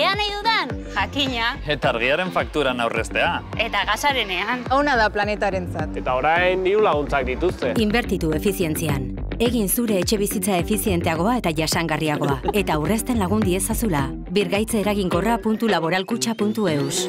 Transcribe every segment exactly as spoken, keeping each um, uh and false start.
Ea nahi dudan, jakina. Eta argiaren fakturan aurreztea. Eta gasarenean. Ona da planetarentzat. Eta orain diru laguntzak dituzte. Inbertitu efizientzian. Egin zure etxe bizitza efizienteagoa eta jasangarriagoa. Eta aurrezten lagun diezazula. birgaitze eraginkorra puntu laboralkutxa puntu eus.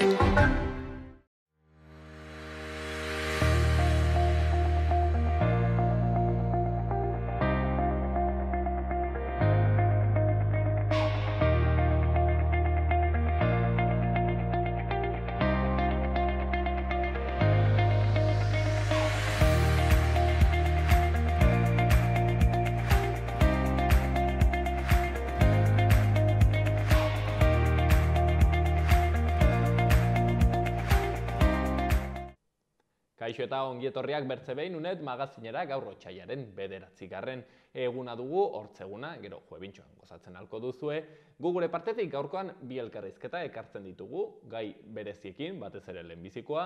Kaixo eta ongietorriak bertze behin unet magazinera gaur otsailaren bederatzigarren eguna dugu, hortzeguna, gero juebintxoan gozatzen halko duzue. Gu gure partetik gaurkoan bi elkarrizketa ekartzen ditugu, gai bereziekin, batez ere lehenbizikoa,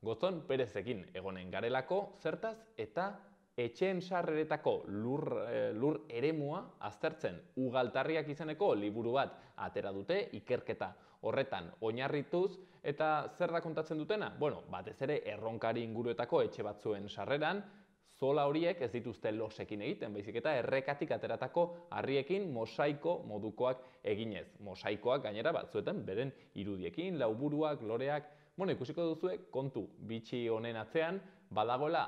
Gozon Perezekin egonen garelako, zertaz eta etxeen sarreretako lur, e, lur eremua aztertzen ugaltarriak izeneko liburu bat atera dute, ikerketa horretan oinarrituz, eta zer da kontatzen dutena? Bueno, batez ere erronkari inguruetako etxe batzuen sarreran, zola horiek ez dituzte losekin egiten, baizik eta errekatik ateratako harriekin mosaiko modukoak eginez. Mosaikoak gainera batzuetan beren irudiekin, lauburuak, loreak, bueno, ikusiko duzue kontu bitxi honen atzean, badagoela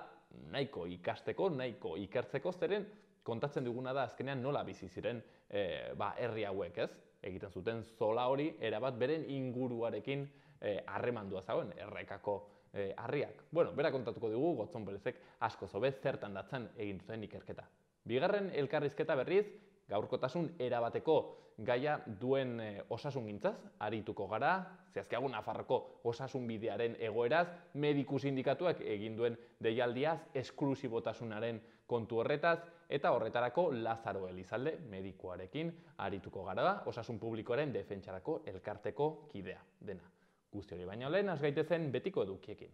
nahiko ikasteko, nahiko ikertzeko, zeren kontatzen duguna da azkenean nola bizi ziren e, ba, herri hauek, ez? Egiten zuten zola hori erabat beren inguruarekin harremandua zagoen, errekako e, harriak. Bueno, bera kontatuko dugu, Gozon Perezek asko zobe zertan datzan egin duten ikerketa. Bigarren elkarrizketa berriz, gaurkotasun erabateko gaia duen e, osasungintzaz arituko gara, zehazkiago Nafarroko osasun bidearen egoeraz, mediku sindikatuak egin duen deialdiaz, esklusibotasunaren kontu horretaz, eta horretarako Lazaro Elizalde medikuarekin arituko gara, osasun publikoaren defentsarako elkarteko kidea dena. Guzti hori baino lehen, has gaitezen betiko edukiekin.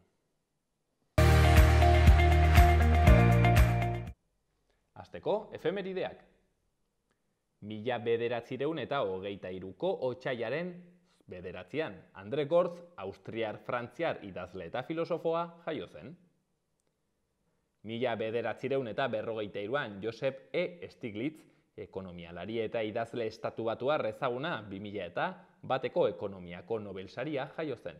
Hasteko, efemerideak. Mila bederatzireun eta hogeita hiruko otsailaren bederatzian. Andre Gortz, austriar-frantziar idazle eta filosofoa jaio zen. Mila bederatzireun eta berrogeita hiruan Joseph E. Stiglitz, ekonomialari eta idazle estatu batuar ezaguna bi mila eta bateko ekonomiako Nobel saria jaio zen.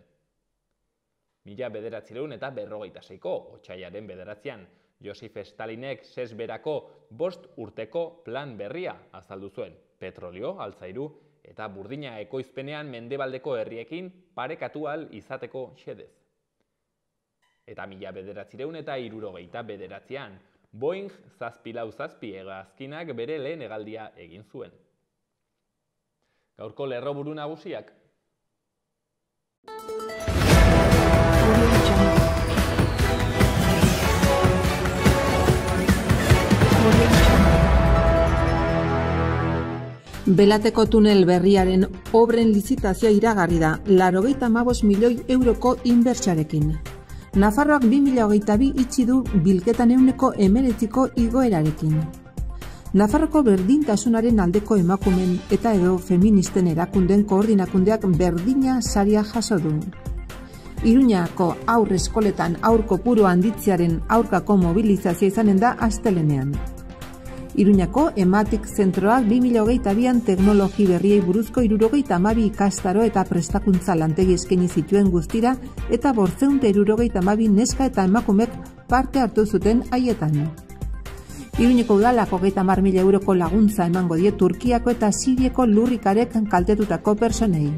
Mila bederatzireun eta berrogeita seiko otsailaren bederatzian Josef Stalinek sesberako bost urteko plan berria azaldu zuen, petrolio, altzairu eta burdina ekoizpenean mendebaldeko herriekin parekatu ahal izateko xedez. Eta mila bederatzireun eta hirurogeita bederatzian Boeing zazpi lau zazpi hegazkinak bere lehen hegaldia egin zuen. Gaurko lerroburu nagusiak. Belateko tunel berriaren obren lizitazioa iragarri da, laurogeita hamabost milioi euroko inbertsioarekin. Nafarroak bi mila hogeita bi itxi du bilketan ehuneko hemeretziko igoerarekin. Nafarroko berdintasunaren aldeko emakumen eta edo feministen erakunden koordinakundeak berdina saria jaso du. Iruñako haur eskoletan haur kopuru handitzearen aurkako mobilizazioa izanen da astelenean. Iruñako Ematik zentroak bi mila hogeita bian teknologi berriei buruzko hirurogeita hamabi ikastaro eta prestakuntza lantegi eskaini zituen guztira eta bortzeun eta hirurogeita hamabi neska eta emakumek parte hartu zuten haietan. Iruñeko udalak hogeita hamar mila euroko laguntza emango die Turkiako eta Siriako lurrikarek kaltetutako personei.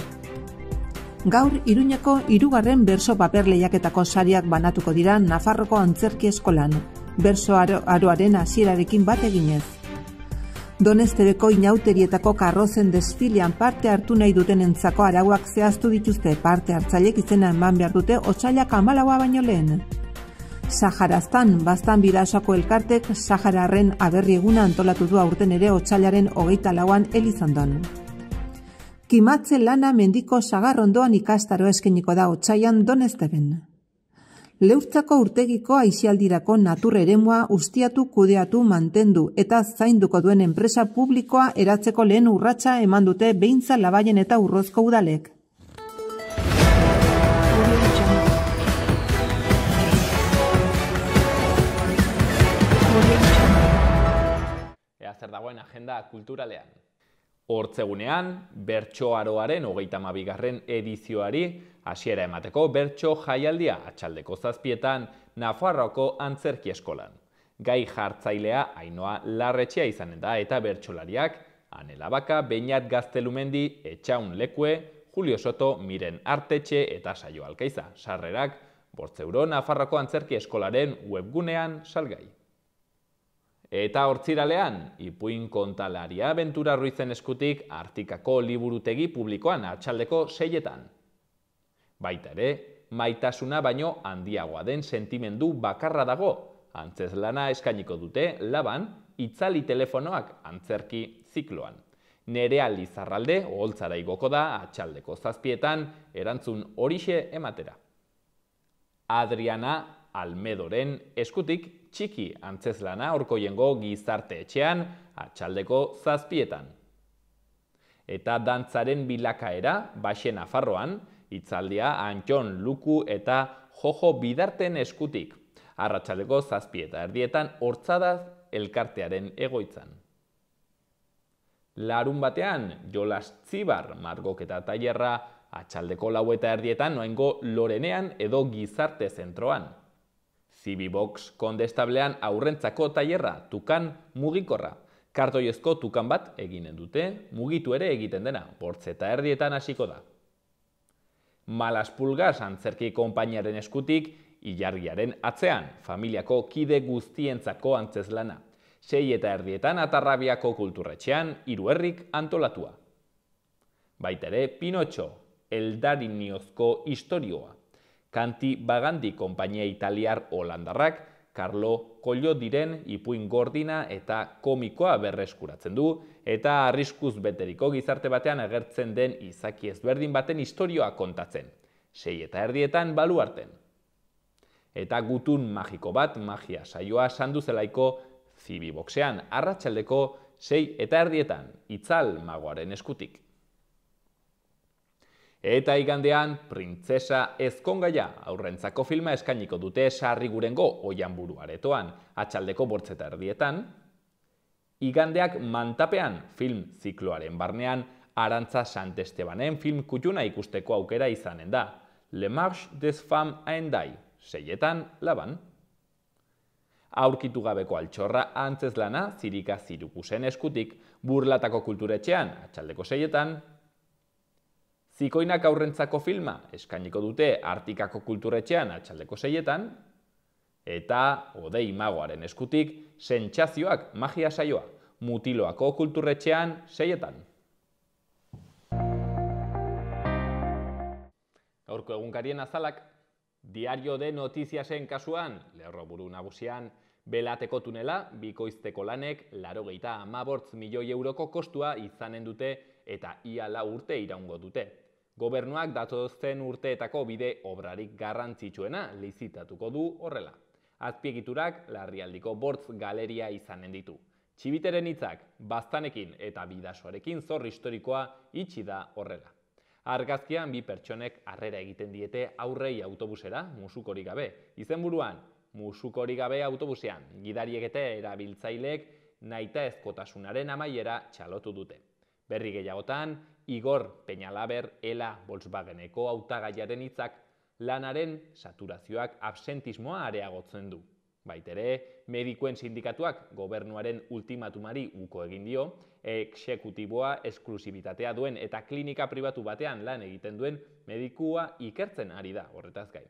Gaur Iruñako hirugarren berso paper lehiaketako sariak banatuko dira Nafarroko antzerki eskolan, berso aro, aroaren hasierarekin bat eginez. Donestebeko inauterietako karrozen desfilean parte hartu nahi dutenentzako arauak zehaztu dituzte, parte hartzailek izena eman behar dute otsailak hamalaua baino lehen. Saharaztan, baztan bidasoko elkartek Sahararren aberri eguna antolatu du aurten ere otsailaren hogeita lauan Elizondon. Kimatze lana mendiko sagarrondoan ikastaro eskeniko da otsailan Donesteben. Leurtzako urtegiko aisialdirako natur eremua ustiatu, kudeatu, mantendu eta zainduko duen enpresa publikoa eratzeko lehen urratsa eman dute Beintza, Labaien eta Urrozko udalek. Ea zer dagoen agenda kulturalean. Hortzegunean, Bertso Aroaren hogeita hamabigarren edizioari hasiera emateko bertso jaialdia atxaldeko zazpietan Nafarroako Antzerki Eskolan. Gai jartzailea Ainhoa Larretxea izanen da eta bertsolariak Anela Baka, Beñat Gaztelumendi, Etxaun Lekue, Julio Soto, Miren Artetxe eta Saio Alkaiza. Sarrerak bost euro Nafarroako Antzerki Eskolaren webgunean salgai. Eta hortziralean, ipuin kontalaria Bentura Ruizen eskutik Artikako liburutegi publikoan atxaldeko seietan. Baita ere, maitasuna baino handiagoa den sentimendu bakarra dago, antzezlana eskainiko dute Laban, itzali telefonoak antzerki zikloan. Nerea Lizarralde oholtzara igoko da atxaldeko zazpietan erantzun horixe ematera. Adriana Almedoren eskutik txiki antzezlana Orkoiengo Gizarte Etxean atxaldeko zazpietan. Eta dantzaren bilakaera Baxe Nafarroan, hitzaldia Antxon Luku eta Jojo Bidarten eskutik. Arratsaldeko zazpieta erdietan Hortzadaz elkartearen egoitzan. Larun batean Jolas Tzibar margoketa tailerra atxaldeko lau eta erdietan noaingo Lorenean edo Gizarte Zentroan. Zibibox kondestablean aurrentzako tailerra tukan mugikorra. Kartoiezko tukan bat eginen dute, mugitu ere egiten dena, bortz eta erdietan hasiko da. Malaspulgas antzerki konpainiaren eskutik, ilargiaren atzean, familiako kide guztientzako antzezlana. Sei eta erdietan Atarrabiako kulturretxean, Hiruherrik antolatua. Baita ere, Pinotxo, Eldariñozko istorioa. Kanti Bagandi konpainia italiar holandarrak, Carlo Collodiren ipuin gordina eta komikoa berreskuratzen du, eta arriskuz beteriko gizarte batean agertzen den izaki ezberdin baten istorioa kontatzen. Sei eta erdietan baluarten. Eta gutun magiko bat magia saioa sandu zelaiko Zibiboxean arratsaldeko sei eta erdietan Itzal magoaren eskutik. Eta igandean, Printzesa Ezkongaia aurrentzako filma eskainiko dute Sarrigurengo Oihanburu aretoan, atxaldeko bortz eta erdietan. Igandeak Mantapean film zikloaren barnean Arantza Santestebanen film kutxuna ikusteko aukera izanen da. Le Marche des Femmes Aendai, seietan Laban. Aurkitu gabeko altxorra antzezlana Zirika Zirukusen eskutik, Burlatako kulturetxean atxaldeko seietan. Zikoinak aurrentzako filma eskainiko dute Artikako kulturetxean atxaldeko seietan, eta Odei magoaren eskutik Sentsazioak magia saioa, Mutiloako kulturretxean seietan. Gaurko egunkarien azalak, Diario de Notiziasen kasuan, lerroburu nagusian, Belateko tunela, bikoizteko lanek, laurogeita hamabost milioi euroko kostua izanen dute eta ia lau urte iraungo dute. Gobernuak datozen urteetako bide obrarik garrantzitsuena lizitatuko du horrela. Azpiegiturak Larrialdiko bortz galeria izanen ditu. Txibiteren hitzak, Baztanekin eta Bidasoarekin zor historikoa itxi da horrela. Argazkian bi pertsonek harrera egiten diete aurrei autobusera, musukorik gabe. Izenburuan, musukorik gabe autobusean, gidariek eta erabiltzaileek nahitaezkotasunaren amaiera txalotu dute. Berri gehiagotan, Igor Peñalaber Ela Volkswageneko hautagaiaren hitzak lanaren saturazioak absentismoa areagotzen du. Baitere, medikuen sindikatuak gobernuaren ultimatumari uko egin dio, exekutiboa esklusibitatea duen eta klinika pribatu batean lan egiten duen medikua ikertzen ari da horretaz gain.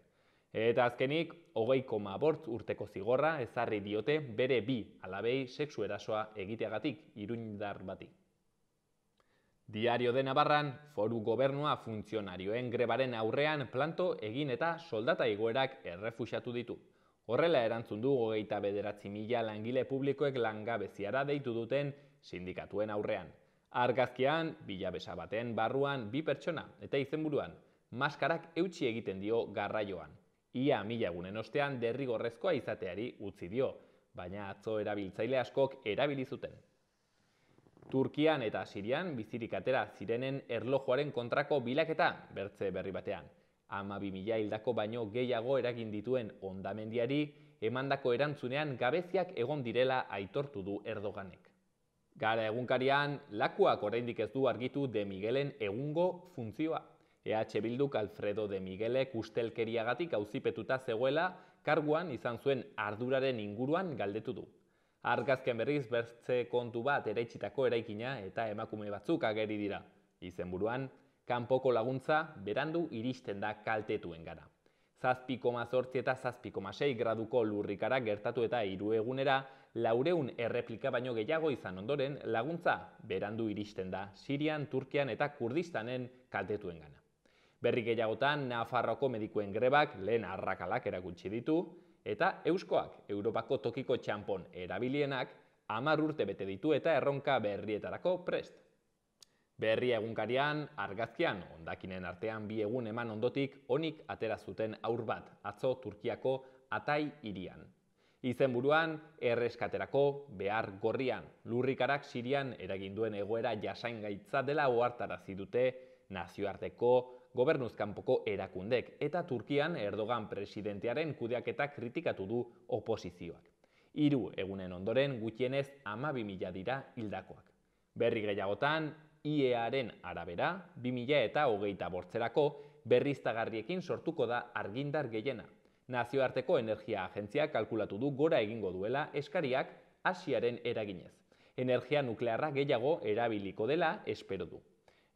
Eta azkenik, hogei koma bost urteko zigorra ezarri diote bere bi alabei sexu erasoa egiteagatik iruindar bati. Diario de Navarran, foru gobernua funtzionarioen grebaren aurrean planto egin eta soldata igoerak errefuxatu ditu. Horrela erantzun du hogeita bederatzi mila langile publikoek langabeziara deitu duten sindikatuen aurrean. Argazkian, bilabesa baten barruan bi pertsona eta izenburuan, maskarak eutsi egiten dio garraioan. ia mila egunen ostean derrigorrezkoa izateari utzi dio, baina atzo erabiltzaile askok erabili zuten. Turkian eta Sirian bizirik atera zirenen erlojuaren kontrako bilaketa bertze berri batean. hamabi mila hildako baino gehiago eragin dituen hondamendiari emandako erantzunean gabeziak egon direla aitortu du Erdoganek. Gara egunkarian, Lakuak oraindik ez du argitu De Miguelen egungo funtzioa. E H Bilduk Alfredo De Miguelek ustelkeriagatik auzipetuta zegoela, karguan izan zuen arduraren inguruan galdetu du. Argazken berriz bertze kontu bat eraitsitako eraikina eta emakume batzuk ageri dira. Izenburuan, kanpoko laguntza berandu iristen da kaltetuen gara. zazpi koma zortzi eta zazpi koma sei graduko lurrikara gertatu eta hiru egunera, laureun erreplika baino gehiago izan ondoren, laguntza berandu iristen da Sirian, Turkian eta Kurdistanen kaltetuen gana. Berri gehiagotan, Nafarroako medikuen grebak lehen arrakalak erakutsi ditu, eta Euskoak, Europako tokiko txanpon erabilienak, hamar urte bete ditu eta erronka berrietarako prest. Berri egunkarian, argazkian, hondakinen artean bi egun eman ondotik, onik atera zuten aur bat, atzo Turkiako Hatay hirian. Izenburuan, erreskaterako behar gorrian, lurrikarak Sirian eragin duen egoera jasangaitza dela ohartarazi dute nazioarteko gobernuzkanpoko erakundek, eta Turkian Erdogan presidentearen kudeaketa kritikatu du oposizioak. Hiru egunen ondoren gutxienez hamabi mila dira hildakoak. Berri gehiagotan, I E Aren arabera, bi mila eta hogeita bortzerako berriztagarriekin sortuko da argindar gehiena. Nazioarteko Energia Agentziak kalkulatu du gora egingo duela eskariak Asiaren eraginez. Energia nuklearra gehiago erabiliko dela espero du.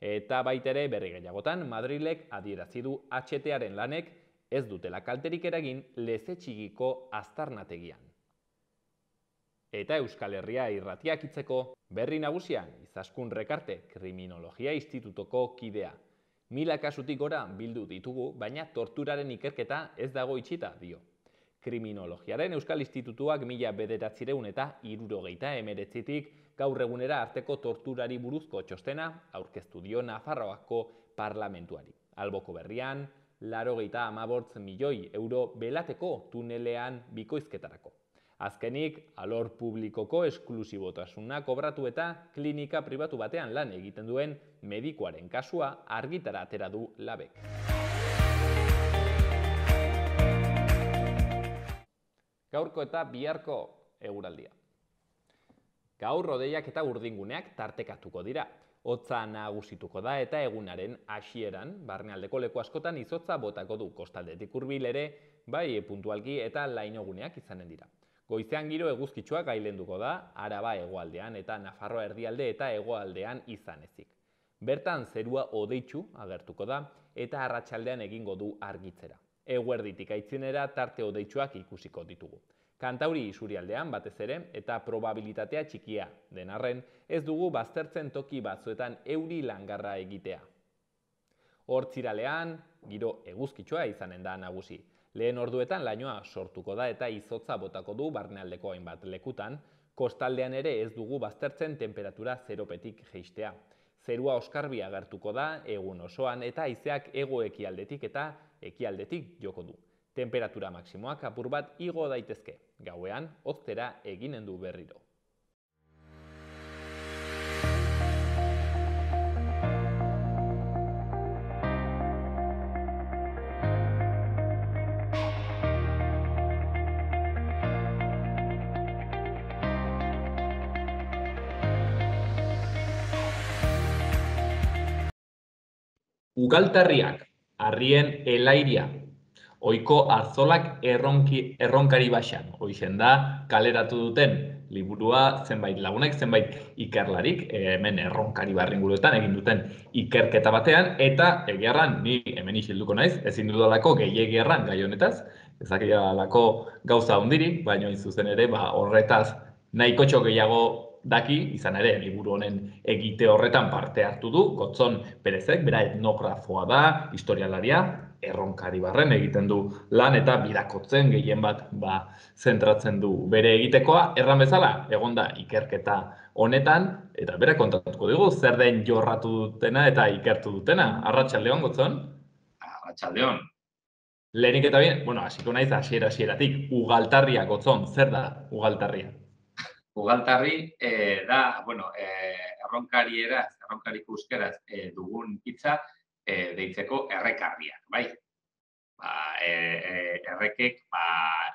Eta baitere berri gehiagotan, Madrilek adierazi du H T-aren lanek ez dutela kalterik eragin Lezetxigiko aztarnategian. Eta Euskal Herria irratiak itzeko berri nagusian, Izaskun Rekarte Kriminologia Institutoko kidea. Mila kasutik gora bildu ditugu, baina torturaren ikerketa ez dago itxita dio. Kriminologiaren Euskal Institutuak mila bederatzireun eta hirurogeita hemeretzitik gaur egunera arteko torturari buruzko txostena aurkeztu dio Nafarroako parlamentuari. Alboko berrian, laurogeita hamabost milioi euro belateko tunelean bikoizketarako. Azkenik, alor publikoko esklusibotasuna kobratu eta klinika pribatu batean lan egiten duen medikuaren kasua argitara atera du labek. Gaurko eta biharko eguraldia. Gaur rodeiak eta urdinguneak tartekatuko dira. Hotza nagusituko da eta egunaren hasieran, barnealdeko leku askotan izotza botako du, kostaldetik hurbil ere, bai puntualki eta lainoguneak izanen dira. Goizean giro eguzkitsuak gailenduko da, Araba hegoaldean eta Nafarroa erdialde eta hegoaldean izan ezik. Bertan zerua hodeitsu agertuko da eta arratsaldean egingo du argitzera. Eguerditik aitzinera tarte hodeitsuak ikusiko ditugu. Kantauri isurialdean batez ere eta probabilitatea txikia den arren ez dugu baztertzen toki batzuetan euri langarra egitea. Hortziralean giro eguzkitsua izanen da nagusi. Lehen orduetan lainoa sortuko da eta izotza botako du barnealdeko hainbat lekutan, kostaldean ere ez dugu baztertzen temperatura zeropetik jeistea. Zerua oskarbi agertuko da egun osoan eta haizeak hego ekialdetik eta ekialdetik joko du. Temperatura maksimoak apur bat igo daitezke, gauean hoztera eginen du berriro. Ugaltarriak, harrien elairia. Oiko arzolak erronki, erronkari baxan. Hoixen da, kaleratu duten liburua zenbait lagunek, zenbait ikerlarik, hemen erronkari barringuruetan egin duten ikerketa batean, eta egiarran, ni hemen isilduko naiz, ezin dudalako gehiagierran gai honetaz, ezakialako gauza hondirik, baina zuzen ere, ba, horretaz nahikotxo gehiago daki, izan ere, liburu honen egite horretan parte hartu du, Gotzon Perezek, bera etnografoa da, historialaria, erronkari barren egiten du lan eta birakotzen gehien bat ba, zentratzen du bere egitekoa, erran bezala, egon da ikerketa honetan, eta bera kontatuko dugu, zer den jorratu dutena eta ikertu dutena. Arratsaldeon, Gotzon? Arratsaldeon. Lehenik eta bien, bueno, hasiko naiz hasiera hasieratik, ugaltarria gotzon, zer da ugaltarria? Ugaltarri eh, da, bueno, eh, erronkarieraz, erronkariko euskeraz eh, dugun hitza eh, deitzeko errekarriak, bai? Ba, eh, eh, errekek ba,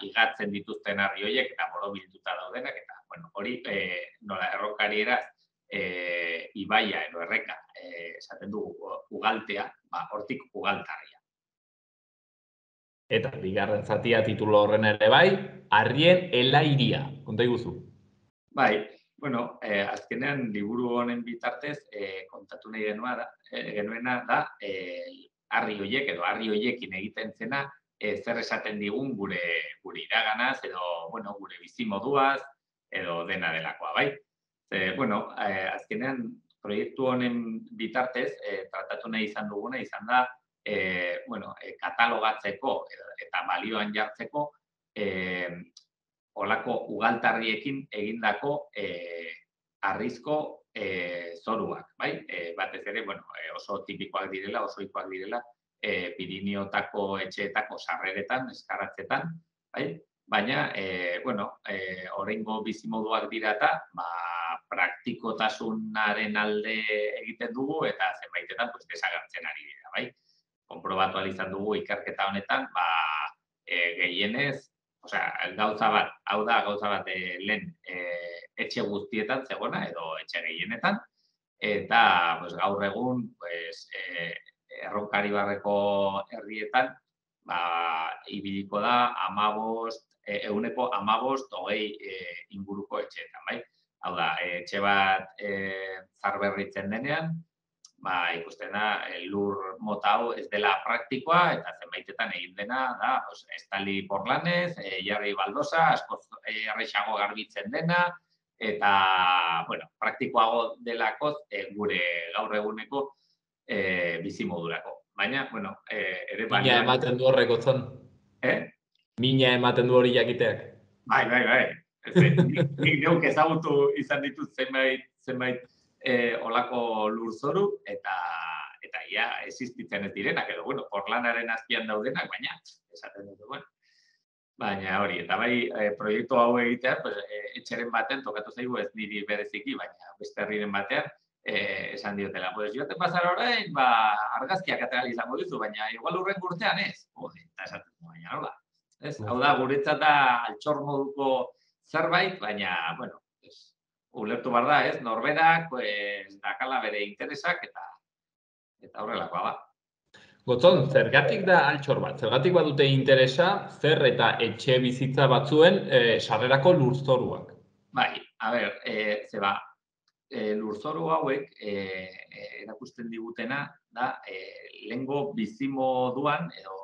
igatzen dituzten harri horiek eta borobilduta daudenak, eta bueno, hori eh, nola erronkarieraz eh, ibaia edo erreka eh, esaten dugu ugaltea, ba, hortik ugaltarria. Eta bigarren zatia titulo horren ere bai, harrien helairia, konta iguzu. Bai, bueno, eh, azkenean liburu honen bitartez eh, kontatu nahi genua da, eh, genuena da eh, harri horiek edo harri horiekin egiten zena eh, zer esaten digun gure gure iraganaz edo bueno, gure bizimoduaz edo dena delakoa, bai? E, bueno, eh, azkenean proiektu honen bitartez eh, tratatu nahi izan duguna izan da eh, bueno, eh, katalogatzeko eta balioan jartzeko eh, olako ugaltarriekin egindako eh, harrizko eh, zoruak, bai? Eh, batez ere, bueno, eh, oso tipikoak direla, oso ohikoak direla, eh, Pirineotako etxeetako sarreretan, eskarratzetan, bai? Baina, eh, bueno, eh, oraingo bizimoduak dira eta, ba, praktikotasunaren alde egiten dugu eta zenbaitetan pues, desagertzen ari dira, bai? Konprobatu ahal izan dugu ikerketa honetan, ba, eh, gehienez, osea, gauza bat, hau da gauza bat e, lehen e, etxe guztietan zegona edo etxe gehienetan, eta pues, gaur egun pues, e, erronkari barreko herrietan ba, ibiliko da amabost, e, euneko amabost hogei e, inguruko etxeetan, bai? Hau da, e, etxe bat e, zarberritzen denean, ba, ikusten da, lur mota hau ez dela praktikoa, eta zenbaitetan egin dena, da, pues, estali porlanez, e, jarri baldosa, askoz errexago garbitzen dena, eta, bueno, praktikoago delakoz e, gure gaur eguneko e, bizimodurako. Baina, bueno, e, ere balioan... Mina ematen du horreko zon. Eh? Mina ematen du hori jakiteak. Bai, bai, bai. Nik neuk ezagutu izan ditut zenbait, zenbait E, olako lurzoru eta eta ia existitzen ez direnak edo bueno, porlanaren azpian daudenak, baina esaten dut, bueno. Baina hori, eta bai e, proiektu hau egitea, pues, e, etxeren baten tokatu zaigu ez niri bereziki, baina beste herriren batean e, esan diotela, pues joaten pasar orain, ba argazkiak atera izango dizu, baina igual urren urtean ez. Jode, eta esaten dut, baina nola. Ez, hau da guretzat da altxor moduko zerbait, baina bueno, ulertu behar da, ez, norberak, pues, dakala bere interesak eta eta horrelakoa da. Gotzon, zergatik da altxor bat? Zergatik badute interesa, zer eta etxe bizitza batzuen e, sarrerako lurzoruak? Bai, a ber, e, zeba, e, lurzoru hauek e, e, erakusten digutena da e, lehengo bizimoduan, edo,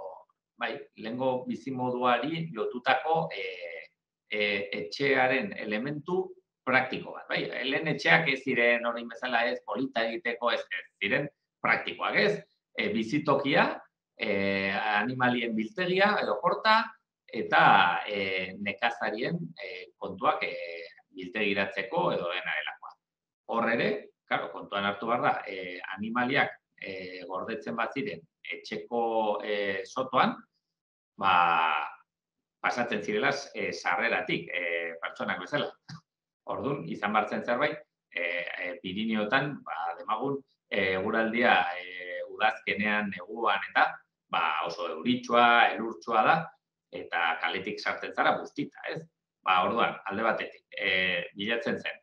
bai, lehengo bizimoduari lotutako e, e, etxearen elementu praktiko bat, bai, lehen etxeak ez ziren hori bezala ez, polita egiteko ez, ez ziren praktikoak ez, e, bizitokia, e, animalien biltegia edo porta, eta e, nekazarien e, kontuak e, biltegiratzeko edo dena delakoa. Hor ere, claro, kontuan hartu behar da, e, animaliak e, gordetzen bat ziren etxeko e, sotoan, ba, pasatzen zirela e, sarreratik, e, pertsonak bezala. Orduan, izan bartzen zerbait, e, e, Pirineotan, ba, demagun, eguraldia e, udazkenean, neguan eta ba, oso euritsua, elurtsua da, eta kaletik sartzen zara guztita, ez? Ba, orduan, alde batetik, e, bilatzen zen,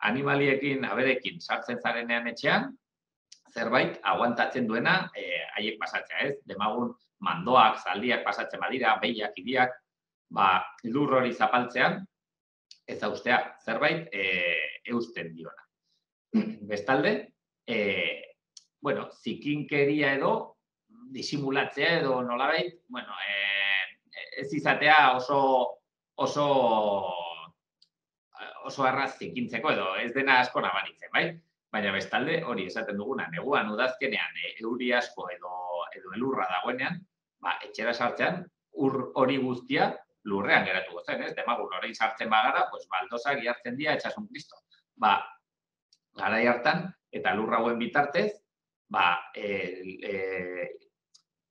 animaliekin, aberekin sartzen zarenean etxean, zerbait aguantatzen duena e, haiek pasatzea, ez? Demagun, mandoak, zaldiak pasatzen badira, behiak, idiak, ba, lur hori zapaltzean, ez ustea, zerbait e, eusten diona. Bestalde, e, bueno, zikinkeria edo, disimulatzea edo nolabait, bueno, e, ez izatea oso, oso, oso erraz zikintzeko edo ez dena asko nabaritzen, bai? Baina bestalde, hori esaten duguna, neguan udazkenean e, euri asko edo, edo elurra dagoenean, ba, etxera sartzean, ur hori guztia, lurrean geratuko zen, ez? Demagun, orain sartzen bagara, pues, baldosak jartzen dira etxasun Kristo. Ba, garai hartan, eta lurra hauen bitartez, ba, e, e,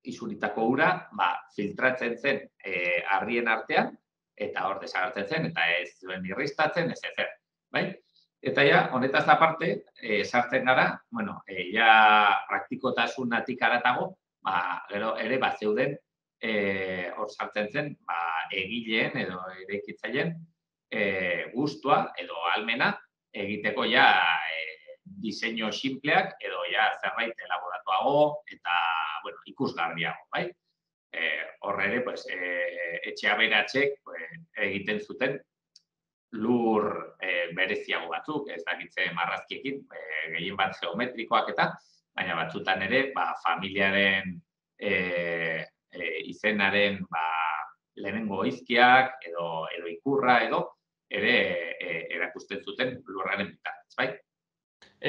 isuritako ura, ba, filtratzen zen e, harrien artean, eta hor desagertzen zen, eta ez zuen irristatzen, ez ezer, bai? Eta ja, honetaz aparte, e, sartzen gara, bueno, e, ja praktikotasunatik haratago, ba, gero ere, ba, zeuden, e, hor sartzen zen, ba, egileen edo eraikitzaileen e, gustua edo almena egiteko ja e, diseinu simpleak edo ja zerbait elaboratuago eta, bueno, ikusgarriago, bai? Horre ere, pues, e, etxe aberatsek pues, egiten zuten lur e, bereziago batzuk, ez dakitze marrazkiekin, e, gehien bat geometrikoak eta, baina batzutan ere, ba, familiaren e, e, izenaren ba, lehenengo izkiak edo, edo ikurra edo, ere e, erakusten zuten lurraren bitartez, bai?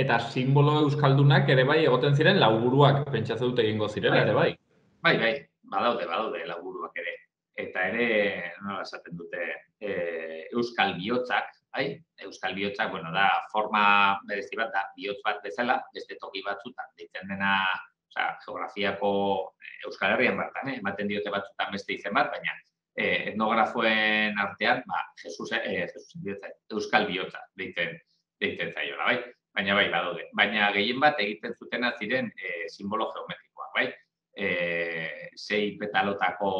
Eta simbolo euskaldunak ere bai egoten ziren lauburuak, pentsatzen dut egingo zirela ere bai. Bai, bai, badaude, badaude lauburuak ere. Eta ere, nola esaten dute, e, euskal bihotzak, bai? Euskal bihotzak, bueno, da forma berezi bat, da bihotz bat bezala, beste toki batzutan, deitzen dena, osea, geografiako Euskal Herrian bertan, eh? Ematen diote batzutan beste izen bat, baina eh, etnografoen artean, ba, Jesus, eh, Jesus bihotza, euskal bihotza, deitzen, deitzen zaiola, bai? Baina bai, badaude. Baina gehien bat egiten zutena ziren eh, simbolo geometrikoak, bai? E, sei petalotako,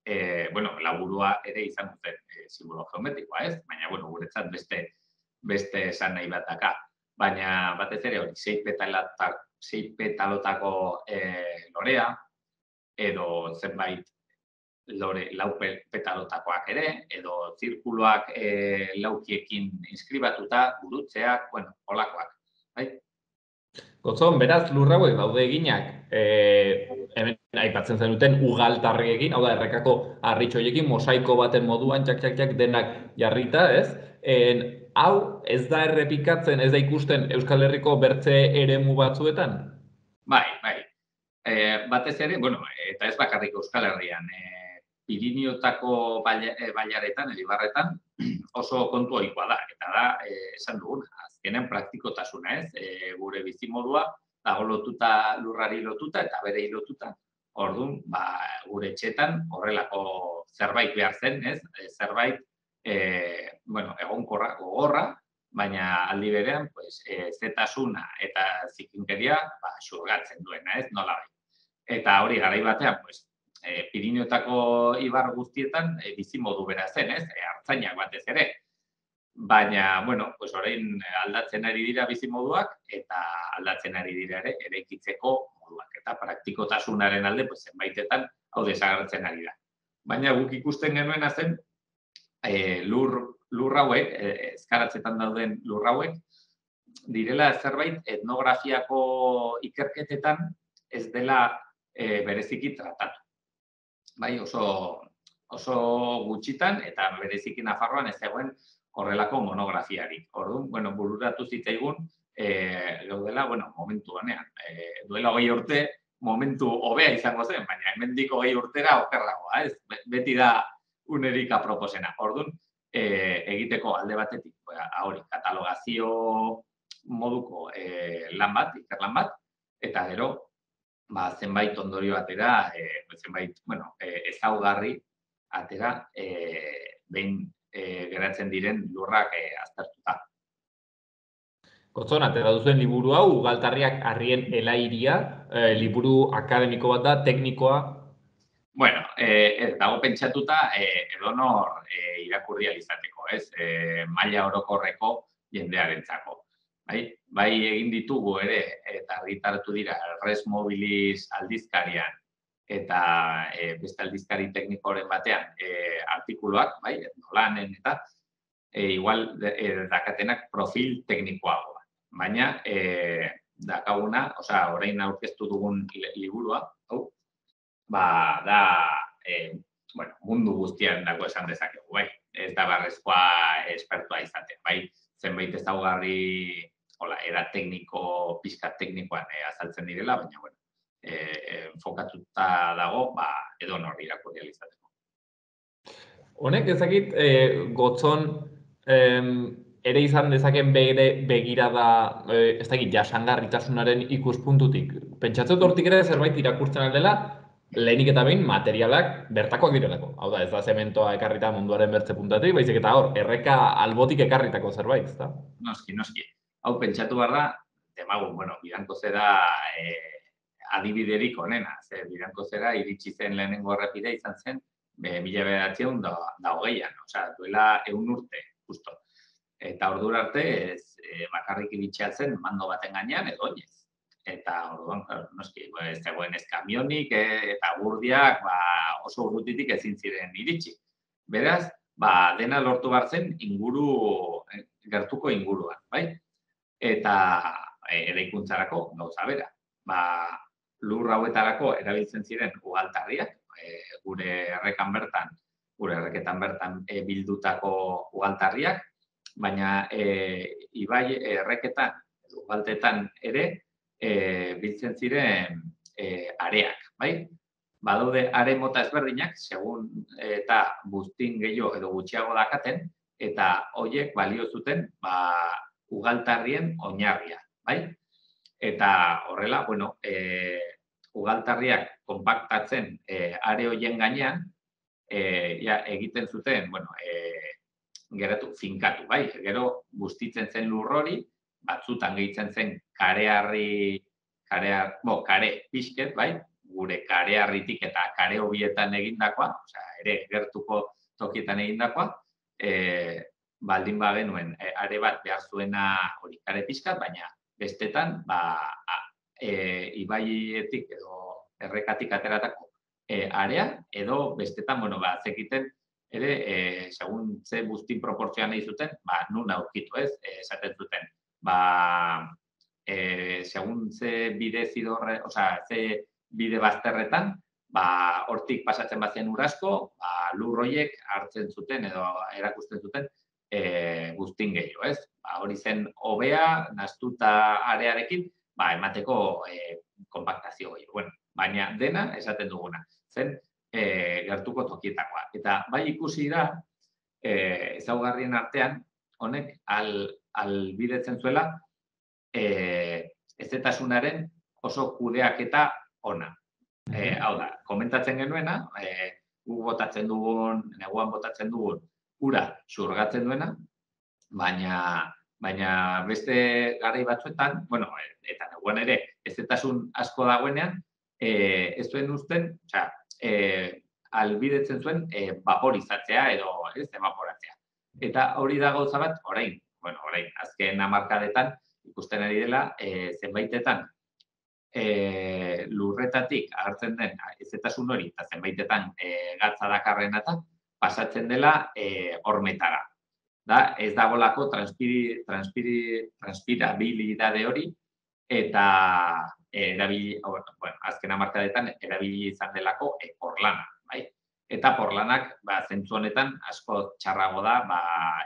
e, bueno, laburua ere izan duten e, simbolo geometrikoa, ez? Baina, bueno, guretzat beste beste esan nahi bat daka. Baina, batez ere, hori, sei petalotak, sei petalotako e, lorea, edo zenbait lore, lau petalotakoak ere, edo zirkuloak e, laukiekin inskribatuta, gurutzeak, bueno, holakoak, bai? Gotzon, beraz, lur hauek daude eginak, e, hemen aipatzen zenuten ugaltarriekin, hau da, errekako harritxoiekin, mosaiko baten moduan, txak-txak-txak denak jarrita, ez? En, hau, ez da errepikatzen, ez da ikusten Euskal Herriko bertze eremu batzuetan? Bai, bai. E, batez ere, bueno, eta ez bakarrik Euskal Herrian, e, Pirinioetako bailaretan, Elibarretan, oso kontu ohikoa da, eta da, e, esan duguna, azkenen praktikotasuna, ez? E, gure bizimodua dago lotuta, lurrari lotuta eta bere lotuta. Orduan, ba, gure etxetan horrelako zerbait behar zen, ez? E, zerbait, e, bueno, egonkorra, gogorra, baina aldi berean, pues, e, zetasuna eta zikinkeria, ba, xurgatzen duena, ez? Nola bai. Eta hori garai batean, pues, E, Pirinioetako ibar guztietan e, bizimodu bera zen, ez? E, hartzainak batez ere. Baina, bueno, pues orain aldatzen ari dira bizimoduak eta aldatzen ari dira ere eraikitzeko moduak eta praktikotasunaren alde pues zenbaitetan hau desagertzen ari da. Baina guk ikusten genuena zen e, lur lur hauek, e, ezkaratzetan dauden lur hauek direla zerbait etnografiako ikerketetan ez dela e, bereziki tratatu. Bai, oso, oso gutxitan eta bereziki Nafarroan ez zegoen horrelako monografiarik. Orduan, bueno, bururatu zitzaigun, e, gaudela, bueno, momentu honean. E, duela hogei urte, momentu hobea izango zen, baina hemendik hogei urtera okerragoa, ez? Beti da unerik aproposena. Orduan, e, egiteko alde batetik, hori, katalogazio moduko e, lan bat, ikerlan bat, eta gero, ba, zenbait ondorio atera, e, zenbait, bueno, e, ezaugarri atera, e, behin e, geratzen diren lurrak e, aztertuta. Gotzon, atera duzuen liburu hau, ugaltarriak harrien elairia, e, liburu akademiko bat da, teknikoa? Bueno, e, ez dago pentsatuta e, edonor e, irakurri alizateko, ez? E, maila orokorreko jendearentzako. Bai, bai egin ditugu ere, eta argitaratu dira, Res Mobilis aldizkarian eta e, beste aldizkari teknikoren batean e, artikuluak, bai, nolanen eta e, igual e, dakatenak profil teknikoagoa. Baina, e, dakaguna, osea, orain aurkeztu dugun liburua, hau, ba, da, e, bueno, mundu guztian dago esan dezakegu, bai, ez da barrezkoa espertua izaten, bai, zenbait ezaugarri hola, era tekniko, pixka teknikoan eh, azaltzen direla, baina, bueno, eh, enfokatuta dago, ba, edo nor irakurri alizateko. Honek ezakit, eh, gotzon, eh, ere izan dezaken bere begirada, eh, ez dakit, jasangarritasunaren ikuspuntutik. Pentsatzen hortik ere zerbait irakurtzen aldela, lehenik eta behin materialak bertakoak direlako. Hau da, ez da zementoa ekarrita munduaren bertze puntatik, baizik eta hor, erreka albotik ekarritako zerbait, ezta? Noski, noski. Hau pentsatu behar da, demagun, bueno, Bidanko zera eh, adibiderik onena. Ze Bidanko zera iritsi zen lehenengo errepidea izan zen, be, mila bederatziehun da, da hogeian, osea, duela ehun urte, justo. Eta ordura arte, ez, e, bakarrik iritsia zen mando baten gainean edo oinez. Eta orduan, noski, ez zegoen ez kamionik e, eta gurdiak ba, oso urrutitik ezin ziren iritsi. Beraz, ba, dena lortu behar zen inguru, gertuko inguruan, bai? Eta e, eraikuntzarako gauza bera. Ba, lur hauetarako erabiltzen ziren ugaltarriak, e, gure errekan bertan, gure erreketan bertan e, bildutako ugaltarriak, baina e, ibai erreketan, ugaltetan ere, E, biltzen ziren e, areak, bai? Badaude are mota ezberdinak, segun eta buztin gehiago edo gutxiago dakaten, eta horiek balio zuten ba, ugaltarrien oinarria, bai? Eta horrela, bueno, e, ugaltarriak konpaktatzen e, are horien gainean, e, ja, egiten zuten, bueno, e, geratu, finkatu, bai? Gero bustitzen zen lur hori, batzutan gehitzen zen karearri, karear, bo, kare pixket, bai? Gure karearritik eta kare hobietan egindakoa, osea, ere gertuko tokietan egindakoa, e, baldin bagenuen e, are bat behar zuena hori kare pixkat, baina bestetan, ba, a, e, ibaietik edo errekatik ateratako e, area, edo bestetan, bueno, ba, zekiten, ere, e, segun ze buztin proportzioan nahi zuten, ba, nun aurkitu ez, e, esaten zuten. Ba, e, segun ze bide zidorre, osea, ze bide bazterretan, ba, hortik pasatzen bazen urasko, ba, lur horiek hartzen zuten edo erakusten zuten e, guztin gehiago, ez? Ba, hori zen hobea, nahastuta arearekin, ba, emateko e, konpaktazio gehiago. Bueno, baina dena esaten duguna, zen e, gertuko tokietakoa. Eta bai ikusi da, e, ezaugarrien artean, honek al albidetzen zuela e, ezetasunaren oso kudeaketa ona. E, hau da, komentatzen genuena, e, gu botatzen dugun, neguan botatzen dugun, ura xurgatzen duena, baina, baina beste garai batzuetan, bueno, eta neguan ere ezetasun asko dagoenean, e, ez zuen uzten, osea, e, albidetzen zuen e, vaporizatzea edo ez evaporatzea. Eta hori da gauza bat, orain, bueno, orain, azken hamarkadetan ikusten ari dela, e, zenbaitetan e, lurretatik agertzen den ezetasun hori, eta zenbaitetan e, gatza dakarrena eta pasatzen dela e, hormetara. Da, ez dagolako transpiri, transpiri, transpirabilidade hori, eta e, erabili, bueno, azken hamarkadetan erabili izan delako e, porlana, bai? Eta porlanak, ba, zentzu honetan asko txarrago da, ba,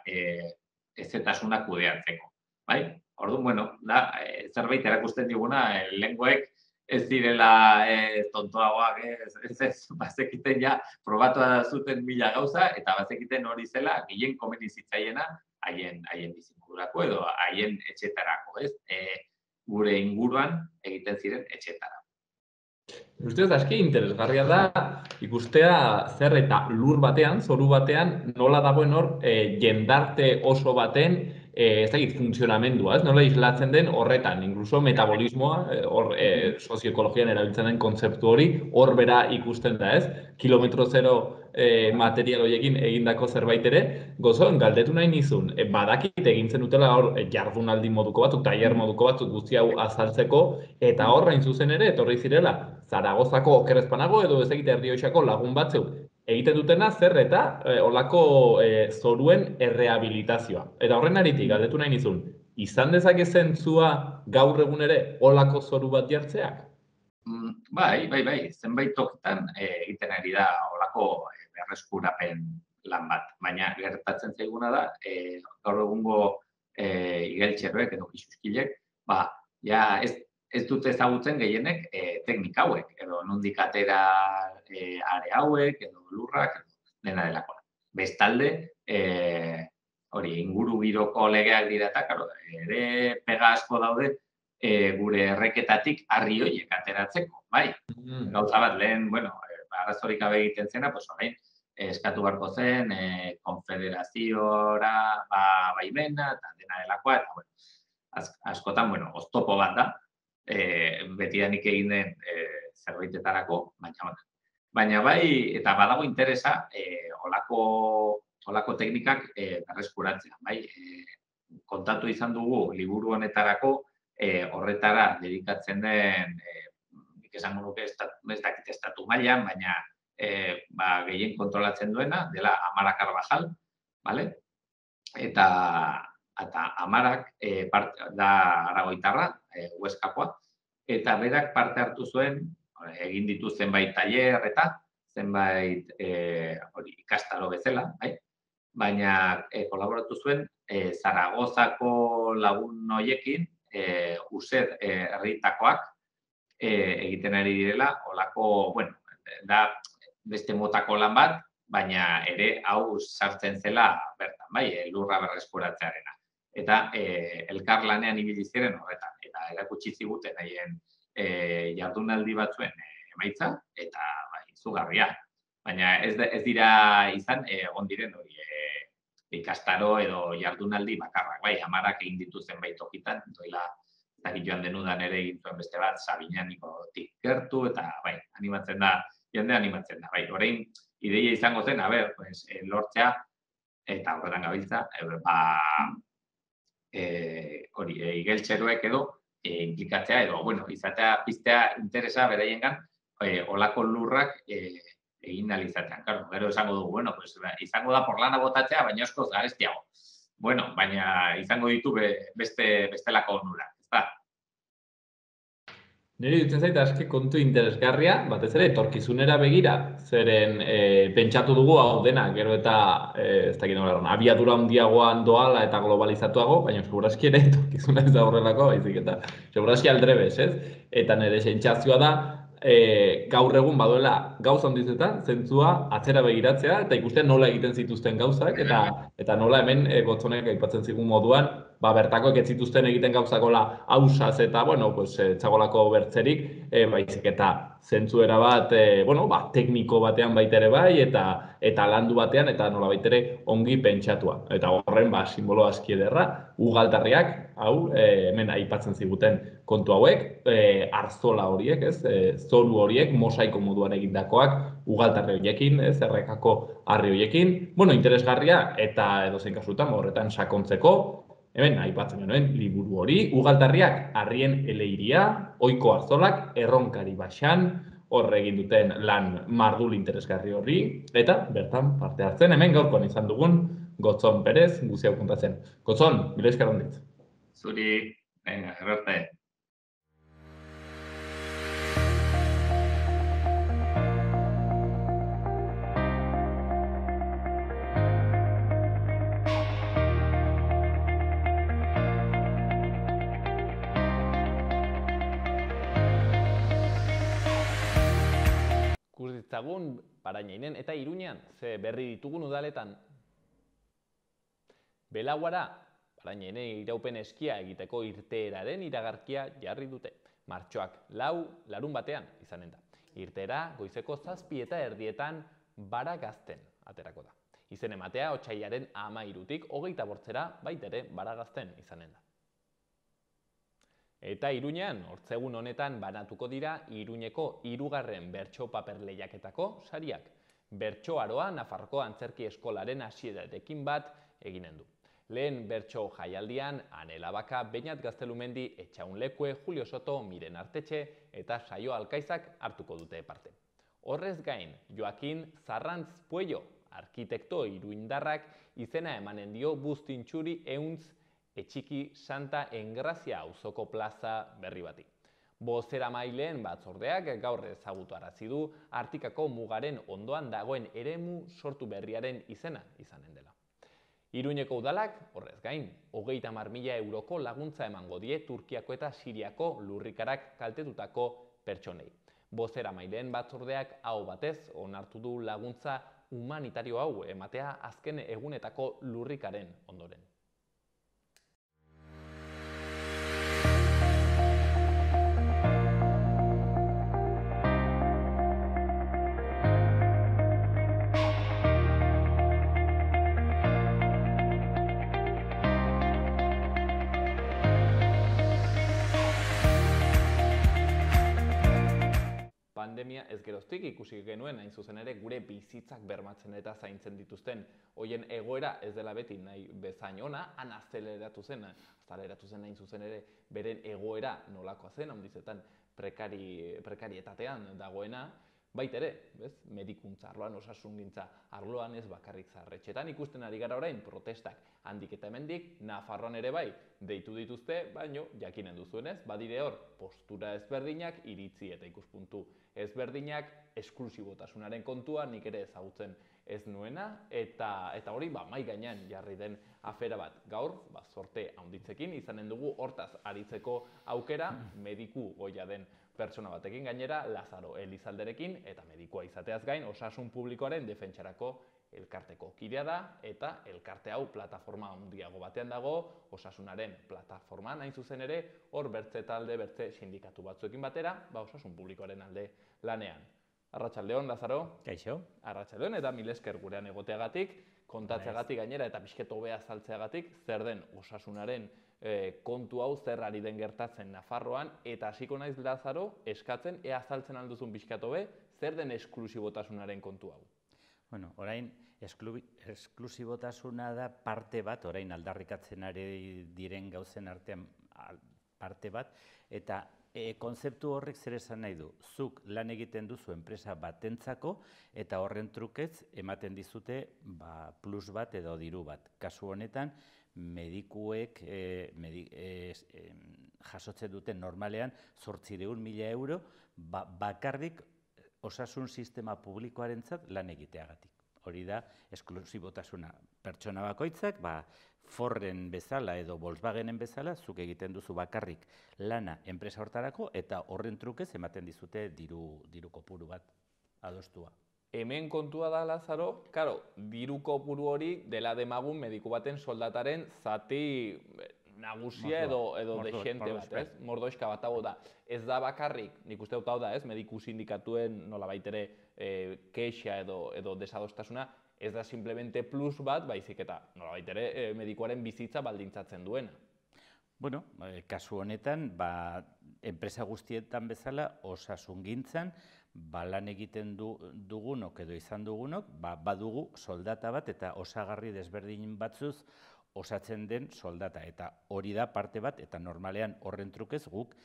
e, ezetasuna kudeatzeko, bai? Orduan, bueno, da, e, zerbait erakusten diguna, e, lenguek ez direla e, tontoagoak, ez, ez, ez, bazekiten ja, probatu zuten mila gauza, eta bazekiten hori zela, gehien komeni zitzaiena, haien, haien bizimodurako edo haien etxetarako, ez? E, gure inguruan egiten ziren etxetara. Ustez, aski interesgarria da ikustea zer eta lur batean, zoru batean, nola dagoen hor e, jendarte oso baten e, ez dakit funtzionamendua, ez? Nola islatzen den horretan, incluso metabolismoa, hor e, sozioekologian erabiltzen den kontzeptu hori, hor bera ikusten da, ez? Kilometro zero e, material horiekin egindako zerbait ere, gozoen, galdetu nahi nizun, e, badakit egintzen dutela hor e, jardunaldi moduko batzuk, tailer moduko batzuk guzti hau azaltzeko, eta horrain zuzen ere, etorri zirela, Zaragozako okerrezpanago edo ez egite Errioxako lagun batzuk egiten dutena zer eta e, olako e, zoruen errehabilitazioa. Eta horren aritik, galdetu nahi nizun, izan dezake zentzua gaur egun ere olako zoru bat jartzeak? Mm, bai, bai, bai, zenbait tokitan e, egiten ari da olako e, berreskurapen lan bat. Baina gertatzen zaiguna da, e, gaur egungo e, igeltxerroek edo pixuskilek, ba, ja ez ez dute ezagutzen gehienek e, teknika hauek, edo nondik atera e, are hauek, edo lurrak, edo dena delakoa. Bestalde, e, hori, inguru giroko legeak dira eta, karo, ere pega asko daude e, gure erreketatik harri horiek ateratzeko, bai. Mm. Gauza bat, lehen, bueno, arazorik gabe egiten zena, pues orain, eskatu beharko zen, e, konfederaziora, ba, baimena, eta dena delakoa, eta, bueno, az, askotan, bueno, oztopo bat da, e, betidanik egin den e, zerbaitetarako, baina, baina bai, eta badago interesa, e, olako, olako teknikak e, berreskuratzea, bai, e, kontatu izan dugu, liburu honetarako, e, horretara dedikatzen den, e, nik esango nuke ez dakit estatu mailan, baina e, ba, gehien kontrolatzen duena, dela Amara Carvajal, vale? Eta, eta Amarak e, part, da aragoitarra, e, Huescakoa, eta berak parte hartu zuen, egin ditu zenbait tailer eta zenbait e, hori, ikastaro bezala, bai? Baina e, kolaboratu zuen e, Zaragozako lagun hoiekin, e, Used herritakoak e, egiten ari direla, olako, bueno, da beste motako lan bat, baina ere hau sartzen zela bertan, bai, lurra berreskuratzearena. Eta e, elkar lanean ibili ziren horretan, eta erakutsi ziguten haien e, jardunaldi batzuen e, emaitza, eta bai, izugarria. Baina ez, ez dira izan, egon e, diren hori, e, ikastaro edo jardunaldi bakarrak, bai, Amarak egin ditu zenbait tokitan, doila, eta joan denudan ere egin zuen beste bat, Sabinanikotik gertu, eta bai, animatzen da, jende animatzen da, bai, orain, ideia izango zen, a ber, pues, e, lortzea, eta horretan gabiltza, e, ba, e, hori, e, igeltxeroek edo, e, implikatzea edo, bueno, izatea, piztea interesa beraiengan, e, olako lurrak, e, egin alizatean. Claro, gero esango dugu, bueno, pues, izango da porlana botatzea, baina askoz garestiago. Bueno, baina izango ditu be, beste bestelako onurak, ezta? Niri dutzen zait, aski kontu interesgarria, batez ere, etorkizunera begira, zeren e, pentsatu dugu hau dena, gero eta, e, ez dakit nola, abiadura handiagoan doala eta globalizatuago, baina segurazki ere etorkizuna ez da horrelako, baizik eta segurazki aldrebez, ez? Eta nire sentsazioa da, E, gaur egun baduela gauza handizetan, zentzua atzera begiratzea eta ikustea nola egiten zituzten gauzak eta eta nola hemen e, gotzonek aipatzen zigun moduan, ba bertakoek ez zituzten egiten gauzakola ausaz eta bueno, pues e, txagolako bertzerik, e, baizik eta zentzuera bat, e, bueno, ba, tekniko batean baita ere bai eta eta landu batean eta nola baitere ongi pentsatua. Eta horren ba simbolo aski ederra, ugaltarriak, hau, e, hemen aipatzen ziguten kontu hauek, e, arzola horiek, ez? E, zoru horiek, mosaiko moduan egindakoak, ugaltarri horiekin, ez, errekako harri horiekin. Bueno, interesgarria eta edozein kasutan horretan sakontzeko, hemen aipatzen genuen liburu hori, ugaltarriak harrien eleiria, ohiko arzolak, erronkari baxan, horre egin duten lan mardul interesgarri horri, eta bertan parte hartzen, hemen gaurkoan izan dugun Gotzon Perez, guzti hau kontatzen. Gotzon, mila esker handitz. Zuri, venga, errarte. Ditzagun Parañainen eta Iruñean, ze berri ditugun udaletan. Belauara, Parañainen iraupen eskia egiteko irteeraren iragarkia jarri dute. Martxoak lau, larun batean izanen da. Irteera goizeko zazpi eta erdietan Baragazten aterako da. Izen ematea otsailaren hamairutik hogeita bortzera baitere Baragazten izanen da. Eta Iruñean, hortzegun honetan banatuko dira Iruñeko hirugarren bertso paper lehiaketako sariak. Bertso aroa Nafarroko Antzerki Eskolaren hasierarekin bat eginen du. Lehen bertso jaialdian, Anela Baka, Beñat Gaztelumendi, Etxaun Lekue, Julio Soto, Miren Artetxe eta Saio Alkaizak hartuko dute parte. Horrez gain, Joakin Zarrantz Puello, arkitekto iruindarrak izena emanen dio Bustintxuri Euntz Etxiki Santa Engrazia auzoko plaza berri bati. Bozeramaileen batzordeak gaur ezagutarazi du Artikako mugaren ondoan dagoen eremu sortu berriaren izena izanen dela. Iruñeko udalak, horrez gain, hogeita hamar mila euroko laguntza emango die Turkiako eta Siriako lurrikarak kaltetutako pertsonei. Bozeramaileen batzordeak aho batez onartu du laguntza humanitario hau ematea azken egunetako lurrikaren ondoren. pandemia ez geroztik ikusi genuen hain zuzen ere gure bizitzak bermatzen eta zaintzen dituzten hoien egoera ez dela beti nahi bezain ona, han azeleratu zen, azeleratu zen hain zuzen ere beren egoera nolakoa zen, handizetan prekari, prekarietatean dagoena, baita ere, bez, medikuntza arloan, osasungintza arloan ez bakarrik zaharretxetan ikusten ari gara orain protestak handik eta hemendik, Nafarroan ere bai deitu dituzte, baino jakinen duzuenez, badire hor postura ezberdinak, iritzi eta ikuspuntu ezberdinak, esklusibotasunaren kontua nik ere ezagutzen ez nuena, eta eta hori ba mai gainean jarri den afera bat. Gaur, ba zorte handitzekin izanen dugu hortaz aritzeko aukera mediku goia den pertsona batekin, gainera Lazaro Elizalderekin eta medikua izateaz gain osasun publikoaren defentsarako elkarteko kidea da eta elkarte hau plataforma handiago batean dago, osasunaren plataforman hain zuzen ere, hor bertze talde, bertze sindikatu batzuekin batera, ba osasun publikoaren alde lanean. Arratsaldeon, Lazaro. Kaixo. Arratsaldeon eta mil esker gurean egoteagatik, kontatzeagatik gainera eta pixket hobea azaltzeagatik zer den osasunaren e, kontu hau zer ari den gertatzen Nafarroan eta hasiko naiz Lazaro eskatzen ea azaltzen alduzun pixkat hobe zer den esklusibotasunaren kontu hau. Bueno, orain esklusibotasuna da parte bat, orain aldarrikatzen ari diren gauzen artean parte bat, eta E, konzeptu horrek zer esan nahi du, zuk lan egiten duzu enpresa batentzako eta horren trukez ematen dizute ba, plus bat edo diru bat. Kasu honetan, medikuek e, medi, e, e, jasotzen duten normalean zortziehun mila euro ba, bakarrik osasun sistema publikoarentzat lan egiteagatik. Hori da, esklusibotasuna. Pertsona bakoitzak, ba, Forren bezala edo Volkswagenen bezala, zuk egiten duzu bakarrik lana enpresa hortarako eta horren trukez ematen dizute diru, diru kopuru bat adostua. Hemen kontua da, Lazaro, karo, diru kopuru hori dela demagun mediku baten soldataren zati nagusia edo, edo dexente bat, ez? Mordoizka bat hau da. Ez da bakarrik, nik uste dut hau da, ez? Mediku sindikatuen nolabait ere e, keixa edo, edo desadostasuna, ez da simplemente plus bat, baizik eta nolabait ere e, medikuaren bizitza baldintzatzen duena. Bueno, e, kasu honetan, ba, enpresa guztietan bezala, osasungintzan, ba, lan egiten du, dugunok edo izan dugunok, ba, badugu soldata bat eta osagarri desberdin batzuz osatzen den soldata. Eta hori da parte bat, eta normalean horren trukez guk,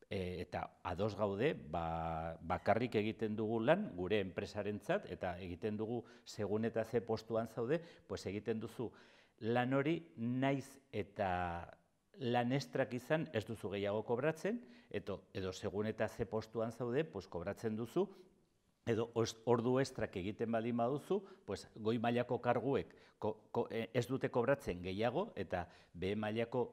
e, eta ados gaude, ba, bakarrik egiten dugu lan gure enpresarentzat, eta egiten dugu segun eta ze postuan zaude, pues egiten duzu lan hori naiz eta lan estrak izan ez duzu gehiago kobratzen, eto, edo segun eta ze postuan zaude, pues kobratzen duzu, edo ordu estrak egiten baldin baduzu, pues goi mailako karguek ko, ko, ez dute kobratzen gehiago, eta behe mailako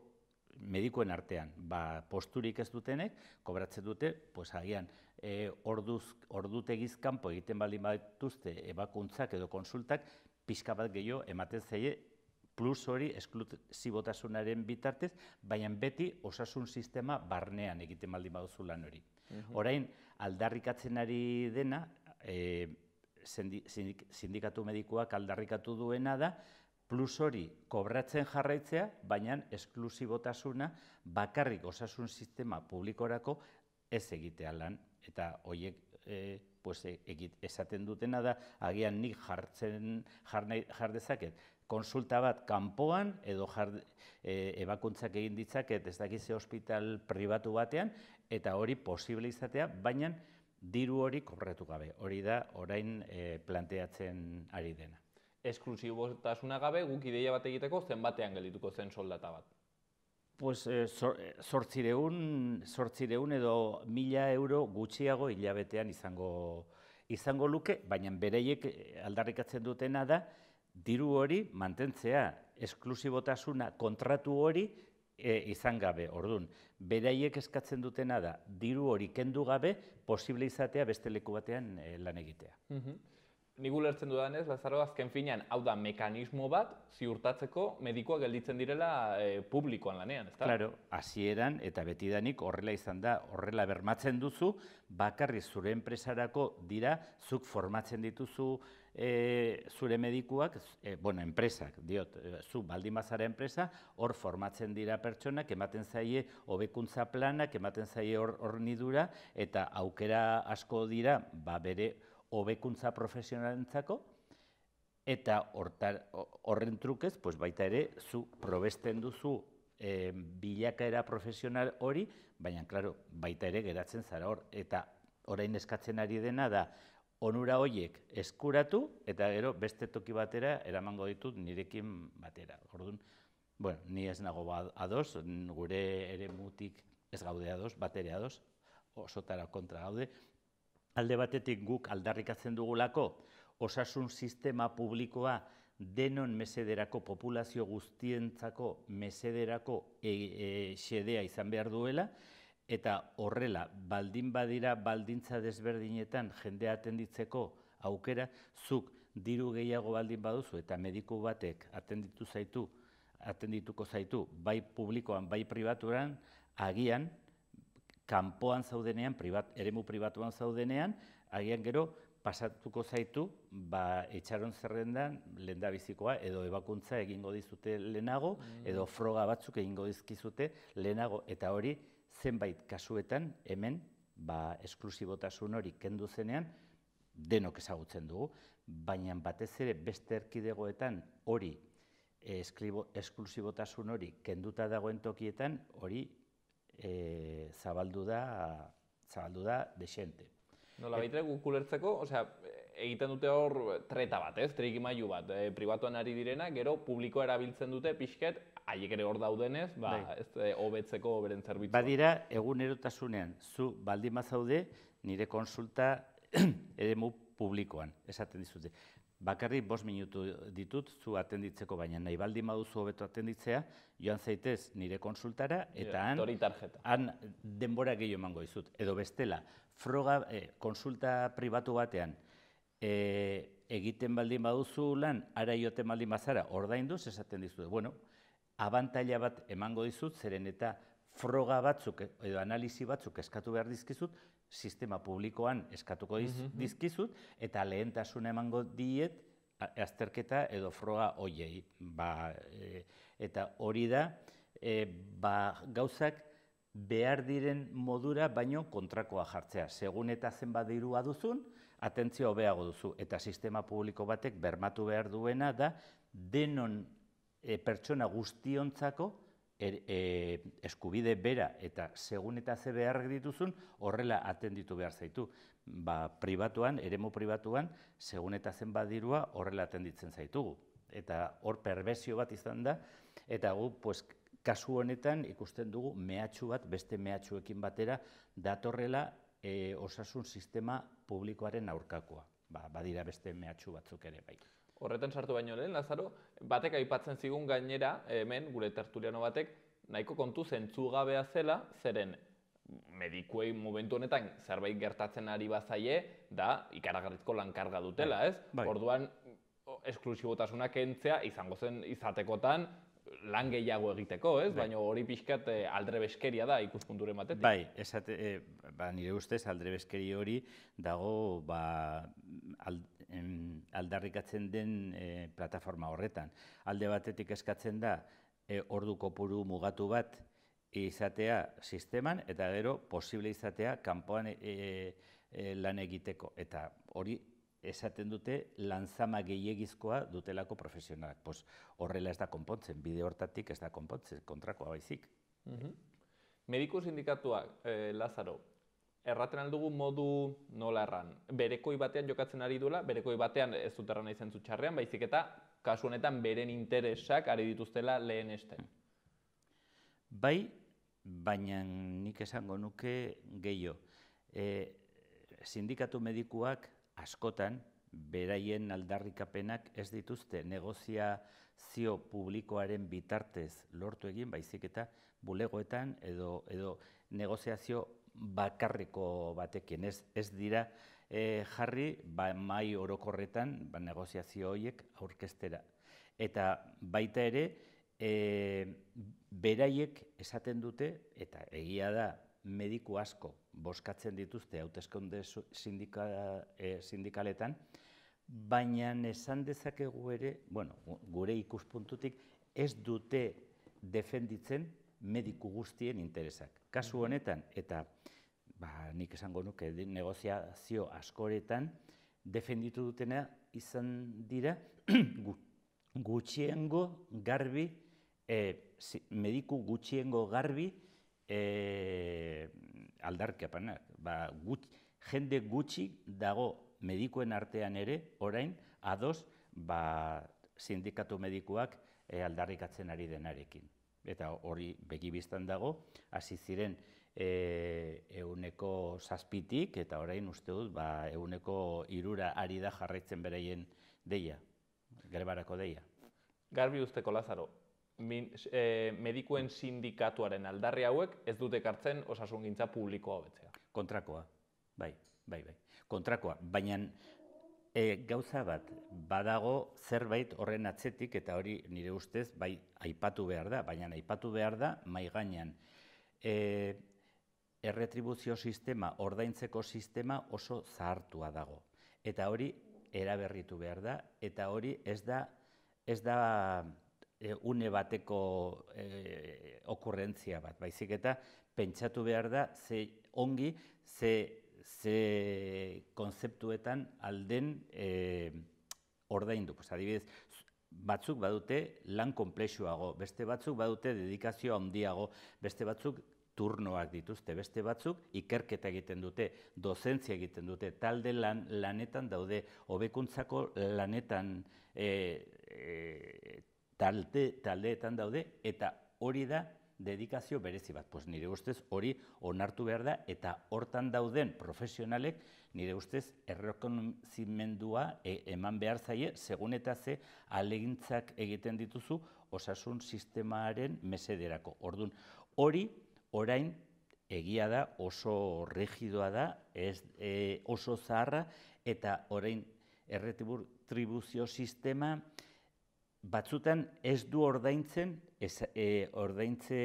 medikuen artean, ba, posturik ez dutenek, kobratzen dute, pues agian, e, orduz, ordutegiz kanpo egiten baldin badituzte ebakuntzak edo konsultak, pixka bat gehiago ematen zaie, plus hori esklusibotasunaren bitartez, baina beti osasun sistema barnean egiten baldin baduzu lan hori. Orain, aldarrikatzen ari dena, e, sindikatu medikuak aldarrikatu duena da, plus hori kobratzen jarraitzea, baina esklusibotasuna bakarrik osasun sistema publikorako ez egitea lan. Eta horiek e, pues, egit, esaten dutena da, agian nik jartzen jar dezaket, konsulta bat kanpoan edo jar, e, ebakuntzak egin ditzaket ez dakize ospital pribatu batean, eta hori posible izatea, baina diru hori kobratu gabe. Hori da orain e, planteatzen ari dena. Esklusibotasuna gabe, guk ideia bat egiteko zenbatean geldituko zen soldata bat? Pues zortziehun edo mila euro gutxiago hilabetean izango, izango luke, baina bereiek aldarrikatzen dutena da, diru hori mantentzea, esklusibotasuna kontratu hori e, izan gabe. Orduan, beraiek eskatzen dutena da, diru hori kendu gabe, posible izatea beste leku batean e, lan egitea. Uh-huh. Nik ulertzen dudanez, Lazaro, azken finean, hau da mekanismo bat ziurtatzeko medikuak gelditzen direla e, publikoan lanean, ezta? Claro, hasieran eta betidanik horrela izan da, horrela bermatzen duzu, bakarri zure enpresarako dira, zuk formatzen dituzu e, zure medikuak, e, bueno, enpresak, diot, e, zu baldin bazara enpresa, hor formatzen dira pertsonak, ematen zaie hobekuntza planak, ematen zaie hornidura, eta aukera asko dira, ba bere hobekuntza profesionalentzako, eta horren trukez, pues baita ere, zu probesten duzu e, bilakaera profesional hori, baina, klaro, baita ere geratzen zara hor, eta orain eskatzen ari dena da, onura horiek eskuratu, eta gero beste toki batera eramango ditut nirekin batera. Orduan, bueno, ni ez nago ados, gure ere mutik ez gaude ados, batere ados, osotara kontra gaude. Alde batetik guk aldarrikatzen dugulako, osasun sistema publikoa denon mesederako, populazio guztientzako mesederako e, e, xedea izan behar duela, eta horrela, baldin badira baldintza desberdinetan jendea atenditzeko aukera, zuk diru gehiago baldin baduzu eta mediku batek atenditu zaitu, atendituko zaitu, bai publikoan, bai pribaturan, agian, kanpoan zaudenean, privat, eremu pribatuan zaudenean, agian gero pasatuko zaitu, ba, etxaron zerrendan lehendabizikoa edo ebakuntza egingo dizute lehenago, edo froga batzuk egingo dizkizute lehenago, eta hori zenbait kasuetan hemen, ba, esklusibotasun hori kendu zenean, denok ezagutzen dugu, baina batez ere beste erkidegoetan hori, esklusibotasun hori kenduta dagoen tokietan, hori E, zabaldu da, zabaldu da desente. Nola baitere guk ulertzeko, osea, egiten dute hor treta bat, ez? Trikimailu bat, e, pribatuan ari direna, gero publikoa erabiltzen dute pixket, haiek ere hor daudenez, ba, ez hobetzeko beren zerbitzua. Badira, egunerotasunean, zu baldin bazaude, nire konsulta eremu publikoan, esaten dizute. Bakarrik bost minutu ditut zu atenditzeko, baina nahi baldin baduzu hobeto atenditzea, joan zaitez nire konsultara, eta han, han denbora gehiago emango dizut. Edo bestela, froga, eh, konsulta pribatu batean, eh, egiten baldin baduzu lan, ara joten baldin bazara, ordainduz esaten dizut. Bueno, abantaila bat emango dizut, zeren eta froga batzuk edo analisi batzuk eskatu behar dizkizut, sistema publikoan eskatuko dizkizut, eta lehentasuna emango diet azterketa edo froga hoiei. Ba, e, eta hori da, e, ba, gauzak behar diren modura baino kontrakoa jartzea. Segun eta zenbat dirua duzun, atentzio hobeago duzu. Eta sistema publiko batek bermatu behar duena da, denon e, pertsona guztiontzako, Er, e, eskubide bera eta segun eta ze beharrak dituzun horrela atenditu behar zaitu. Ba, pribatuan, eremu pribatuan, segun eta zen badirua horrela atenditzen zaitugu. Eta hor perbesio bat izan da, eta gu, pues, kasu honetan ikusten dugu mehatxu bat, beste mehatxuekin batera, datorrela e, osasun sistema publikoaren aurkakoa. Ba, badira beste mehatxu batzuk ere bai. Horretan sartu baino lehen, Lazaro, batek aipatzen zigun gainera, hemen, gure tertuliano batek, nahiko kontu zentzugabea zela, zeren medikuei momentu honetan zerbait gertatzen ari bazaie, da ikaragarrizko lankarga dutela, ez? Orduan, esklusibotasuna kentzea izango zen izatekotan lan gehiago egiteko, ez? Baina hori pixkat aldrebeskeria da ikuspunturen batetik. Bai, esate, nire ustez aldrebeskeri hori dago aldarrikatzen den plataforma horretan. Alde batetik eskatzen da ordu kopuru mugatu bat izatea sisteman, eta gero posible izatea kanpoan lan egiteko. Eta hori esaten dute lanzama gehiegizkoa dutelako profesionalak. Pues horrela ez da konpontzen, bide hortatik ez da konpontzen, kontrakoa baizik. Mediku sindikatuak, Lazaro, erraten aldugu modu nola erran? Berekoi batean jokatzen ari duela, berekoi batean ez dut erran izan txarrean, baizik eta kasu honetan beren interesak ari dituztela lehen esten. Bai, baina nik esango nuke gehiago. Sindikatu medikuak askotan, beraien aldarrikapenak ez dituzte negoziazio publikoaren bitartez lortu egin, baizik eta bulegoetan edo negoziazio bakarreko batekin, ez, ez dira e, jarri ba, mai orokorretan ba, negoziazio horiek aurkeztera. Eta baita ere, e, beraiek esaten dute, eta egia da mediku asko bozkatzen dituzte hauteskunde sindika, e, sindikaletan, baina esan dezakegu ere, bueno, gure ikuspuntutik, ez dute defenditzen mediku guztien interesak. Kasu honetan, eta ba, nik esango nuke negoziazio askoretan, defenditu dutena izan dira gutxiengo garbi, eh, mediku gutxiengo garbi eh, aldarkapanak. Ba, gut, jende gutxi dago medikuen artean ere, orain, ados, ba, sindikatu medikuak eh, aldarrikatzen ari denarekin. Eta hori begibistan dago, hasi ziren e, euneko zazpitik, eta orain uste dut, ba, euneko irura ari da jarraitzen beraien deia, grebarako deia. Garbi usteko, Lazaro, min, e, medikuen sindikatuaren aldarri hauek ez dute ekartzen osasungintza publikoa hobetzea. Kontrakoa, bai, bai, bai. Kontrakoa, baina E, gauza bat, badago zerbait horren atzetik, eta hori nire ustez bai aipatu behar da, baina aipatu behar da mai gainean. E, erretribuzio sistema, ordaintzeko sistema oso zahartua dago. Eta hori eraberritu behar da, eta hori ez da, ez da e, une bateko e, okurrentzia bat, baizik eta pentsatu behar da, ze ongi, ze ze konzeptuetan alden e, ordaindu. Pues, adibidez, batzuk badute lan konplexuago, beste batzuk badute dedikazio handiago, beste batzuk turnoak dituzte, beste batzuk ikerketa egiten dute, dozentzia egiten dute, talde lan, lanetan daude, hobekuntzako lanetan e, e, talde, taldeetan daude, eta hori da dedikazio berezi bat. Pues nire ustez hori onartu behar da, eta hortan dauden profesionalek nire ustez errekonozimendua e, eman behar zaie, segun eta ze ahalegintzak egiten dituzu osasun sistemaren mesederako. Orduan, hori orain egia da, oso rigidoa da, ez, e, oso zaharra, eta orain erretribuzio sistema batzutan ez du ordaintzen ez, e, ordaintze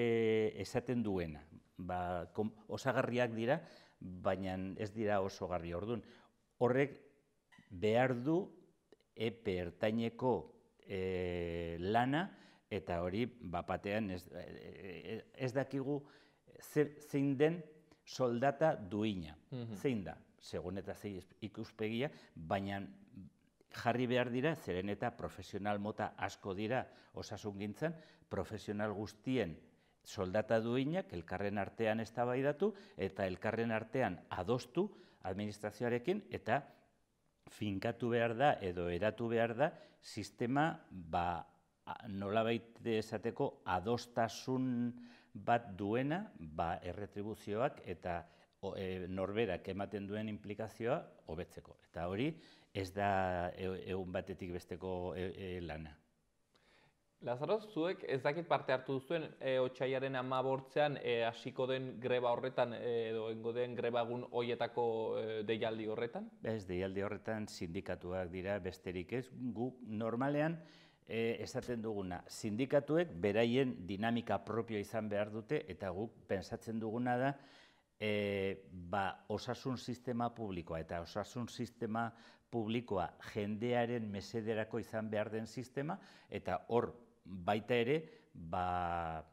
esaten duena. Ba, kom, osagarriak dira, baina ez dira osagarri. Orduan, horrek behar du epe ertaineko e, lana, eta hori bapatean ez, e, ez dakigu ze, zein den soldata duina. Mm-hmm. Zein da, segun eta zein ikuspegia, baina jarri behar dira, zeren eta profesional mota asko dira osasungintzan, profesional guztien soldata duinak elkarren artean eztabaidatu eta elkarren artean adostu administrazioarekin, eta finkatu behar da edo eratu behar da sistema ba, nolabait esateko adostasun bat duena ba, erretribuzioak eta e, norberak ematen duen implikazioa hobetzeko. Eta hori ez da egun batetik besteko e, e, lana. Lazaro, zuek ez dakit parte hartu duzuen e, otsailaren hamabortzean e, hasiko den greba horretan e, edo engo den grebagun hoietako e, deialdi horretan? Ez, deialdi horretan sindikatuak dira besterik ez. Gu normalean e, esaten duguna, sindikatuek beraien dinamika propio izan behar dute, eta guk pentsatzen duguna da e, ba, osasun sistema publikoa eta osasun sistema publikoa jendearen mesederako izan behar den sistema, eta hor baita ere ba,